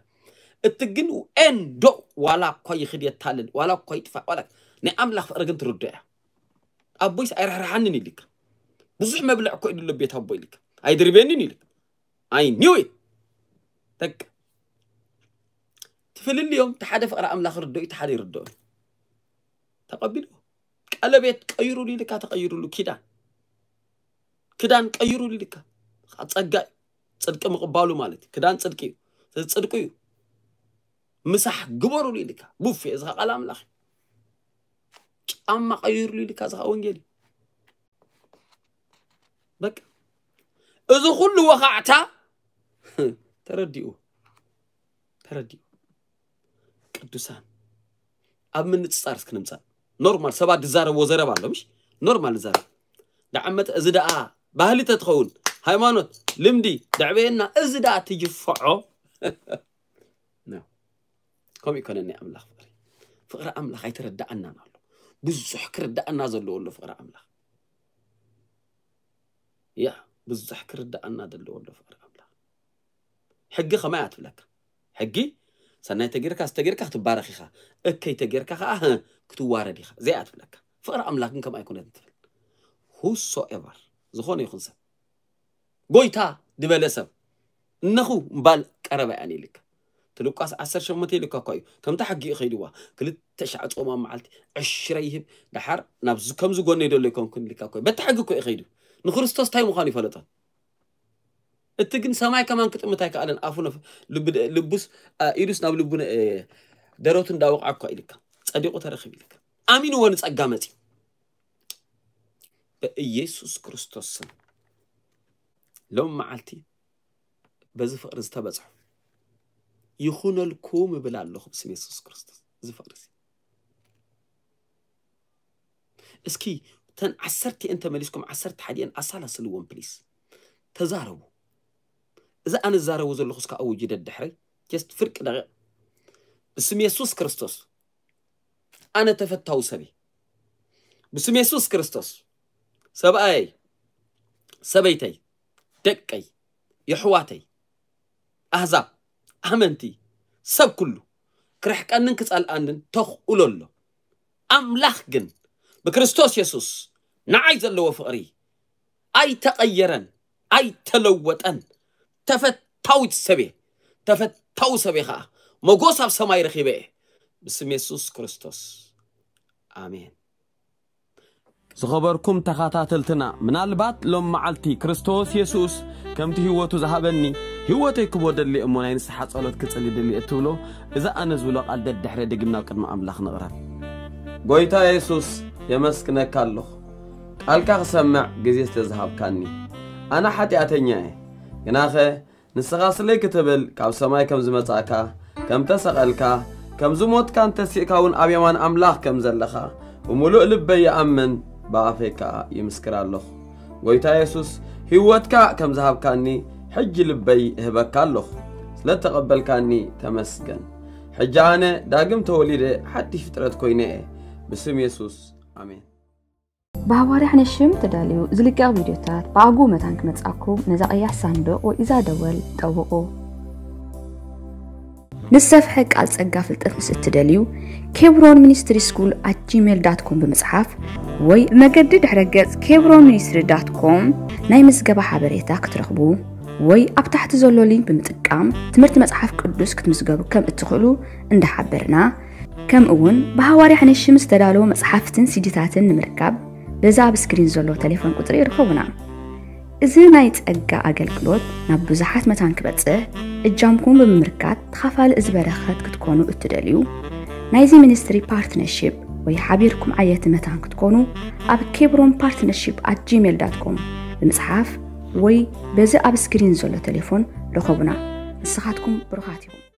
እቲ ግን ኤንዶ ዋላ እኳ ይኽድ የታልል፣ ዋላ እኳ ይጥፋእ፣ ዋላ ናይ ኣምላኽ ፍቕሪ ግን ትርዶ እያ። ኣቦይስ ኣይርሕርሓንን ኢልካ። ብዙሕ መብልዕ እኮ ኢሉ ኣሎ ቤት ኣቦይ ኢልካ። ኣይድርቤንን ኢልካ። ኣይ ኒው ኢት። በቃ። ትፍልልዮም፣ እቲ ሓደ ፍቕሪ ኣምላኽ ርዶ እዩ፣ እቲ ሓደ ይርድኦ እዩ። ተቐቢልዎ። ቀለቤት ቀይሩሉ ኢልካ፣ ተቐይሩሉ። ኪዳን። ክዳን ቀይሩሉ ኢልካ። ጸጋ እዩ። ጽድቂ ምቕባሉ ማለት እዩ። ክዳን ጽድቂ እዩ። እዚ ጽድቂ እዩ። ምሳሕ ግበሩሉ ኢልካ። ቡፌ፣ እዚ ኸኣ ቃል ኣምላኽ እዩ። ጫማ ቀይሩሉ ኢልካ፣ እዚ ኸኣ ወንጌል እዩ። በቃ። እዚ ኩሉ ወኻዕታ ተረዲኡ። ተረዲኡ። ቅዱሳን፣ ኣብ ምንጽጻር እስኪ ንምጻእ። ኖርማል ሰባት ዝዛረብዎ ዘረባ ኣሎ፣ ምሽ? ኖርማል ዝዛረብ። ደዓመተ፣ እዚ ደኣ ባህሊ ተትኸውን፣ ሃይማኖት፣ ልምዲ፣ ደዕበየና፣ እዚ ደኣ ትጅፍዖ። ኖ። ከምኡ ይኮነኒ ኣምላኽ ፍቕሪ። ፍቕሪ ኣምላኽ ኣይተረዳኣናን ኣሎ። ብዙሕ ክርዳኣና ዘለዎ ኣሎ ፍቕሪ ኣምላኽ። ያ፣ ብዙሕ ክርዳኣና ዘለዎ ኣሎ ፍቕሪ ኣምላኽ። ሕጊ ከማይ እያ ትብለካ። ሕጊ ሰናይ ተጌርካ፣ ዝተጌርካ ክትባረኽ ኢኻ፣ እከይ ተጌርካ ከኣ፣ ህ፣ ክትዋረድ ኢኻ። እዚኣ እያ ትብለካ። ፍቕሪ ኣምላኽ ግን ከምኣ ኣይኮነትን ትብል። ሁሶኤቨር፣ ዝኾነ ይኹን ሰብ፣ ጎይታ ዝበለ ሰብ፣ እነኹ እምባል ቀረባ እያ ኢልካ። እቲ ሉቃስ ዓሰርተ ሸሞንተ ኢልካ እኳ እዩ። ከምታ ሕጊ እዩ ከይድዋ። ክልተ ሻዕ ጾም ኣብ መዓልቲ፣ ዕሽረ ይህብ፣ ደሓር ናብዚ፣ ከምዚ ጎነይ ደሎ ኣይኮንኩን ኢልካ እኮ እዩ። በቲ ሕጊ እኮ እዩ ከይዱ። ንክርስቶስ እንታይ ምዃኑ ይፈለጦ። እቲ ግን ሰማይ ከማን ክጥምት ኣይከኣለን። ኣፉ ነፍ-፣ ልብ-፣ ልቡስ፣ አ፣ ኢዱስ ናብ ልቡ ነ-፣ እ፣ ደረቱ እንዳወቕዐ እኳ ኢልካ። ጸዲቑ ተረኺቡ ኢልካ። ኣሚንዎ ንጸጋ መጺኡ። በኢየሱስ ክርስቶስ ስም ሎም መዓልቲ በዚ ፍቕሪ ዝተበጽሑ ይኹነልኩም እብል ኣለኹ ብስም የሱስ ክርስቶስ። እዚ ፍቕሪ እዚ እስኪ እተን ዓሰርተ እየን ተመሊስኩም ዓሰርተ ሓደ እየን ኣሳላስልዎም ፕሊስ። ተዛረቡ። እዚ ኣነ ዝዛረቡ ዘለኹ እስከ ኣውጅ ደድሕረይ ጀስት ፍርቂ ደቂቕ። ብስም የሱስ ክርስቶስ ኣነ ተፈታዊ ሰብይ ብስም የሱስ ክርስቶስ ሰብኣየይ፣ ሰበይተይ፣ ደቀይ፣ የሕዋተይ፣ ኣህዛብ፣ ኣመንቲ፣ ሰብ ኩሉ ክርሕቀንን ክጸልኣንን ተኽእሎ ኣሎ። ኣምላኽ ግን ብክርስቶስ የሱስ ንዓይ ዘለዎ ፍቕሪ ኣይተቐየረን፣ ኣይተለወጠን። ተፈታዊት ሰብየ፣ ተፈታዊ ሰብየ ኸኣ መጎስ ኣብ ሰማይ ረኺበ እየ። ብስም የሱስ ክርስቶስ። ኣሜን። ዝኸበርኩም ተኸታተልትና፣ ምናልባት ሎም መዓልቲ ክርስቶስ የሱስ ከምቲ ህይወቱ ዝሃበኒ ህይወተይ ክቦ ደሊ እሞ ናይ ንስሓ ጸሎት ክጽሊ ድሊ እትብሎ፣ እዛ ኣነ ዝብሎ ቃል ደድሕረ ድግም ናብ ቅድሚ ኣምላኽ ንቕረብ። ጎይታ የሱስ፣ የመስግነካ ኣለኹ፣ ቃልካ ክሰምዕ ግዜ ስለ ዝሃብካኒ። ኣነ ሓጢኣተኛ እየ፣ ግናኸ ንስኻ ስለይ ክትብል ካብ ሰማይ ከም ዝመጻእካ፣ ከም ተሰቐልካ፣ ከም ዝሞትካን ተሲእካ እውን ኣብ የማን ኣምላኽ ከም ዘለኻ ብምሉእ ልበይ ይኣምን፣ ብኣፈይ ከኣ ይምስክር ኣለኹ። ጎይታ የሱስ፣ ህይወትካ ከም ዝሃብካኒ ሕጂ ልበይ እህበካ ኣለኹ። ስለ ተቐበልካኒ ተመስገን። ሕጂ ኣነ ዳግም ተወሊደ ሓድሽ ፍጥረት ኮይነ እየ። ብስም የሱስ፣ ኣሜን። ብሃዋርያ ሕነሽም ተዳልዩ ዝልቀቕ ቪድዮታት ብኣግኡ መታን ክመጻኩም ነዛ ቀያሕ ሳንዱቕ ወይ እዛ ደወል ጠውቑ። ንሰፍሐ ቃል ጸጋ ፍልጠት ምስ እትደልዩ፣ ኬብሮን ሚኒስትሪ ስኩል ኣት ጂሜል ዳት ኮም ብምጽሓፍ ወይ ብመገዲ ድሕረ ገጽ ኬብሮን ሚኒስትሪ ዳት ኮም ናይ ምዝገባ ሓበሬታ ክትረኽቡ ወይ ኣብ ታሕቲ ዘሎ ሊንክ ብምጥቃም ትምህርቲ መጽሓፍ ቅዱስ ክትምዝገቡ ከም እትኽእሉ እንዳሓበርና፣ ከምኡ እውን ብሃዋርያ ሕነሽም ዝተዳለወ መጽሓፍትን ሲዲታትን ንምርካብ በዛ ኣብ ስክሪን ዘሎ ቴሌፎን ቁጽሪ ይርከቡና። እዚ ናይ ጸጋ ኣገልግሎት ናብ ብዙሓት መታን ክበጽሕ እጃምኩም ብምምርካት ተኻፋሊ እዚ በረኸት ክትኮኑ እትደልዩ፣ ናይዚ ሚኒስትሪ ፓርትነርሺፕ ወይ ሓቢርኩም ዓየቲ መታን ክትኮኑ ኣብ ኬብሮን ፓርትነርሺፕ ኣት ጂሜል ዳት ኮም ብምጽሓፍ ወይ በዚ ኣብ ስክሪን ዘሎ ቴሌፎን ርኸቡና። ንስኻትኩም ብሩኻት ኢኹም።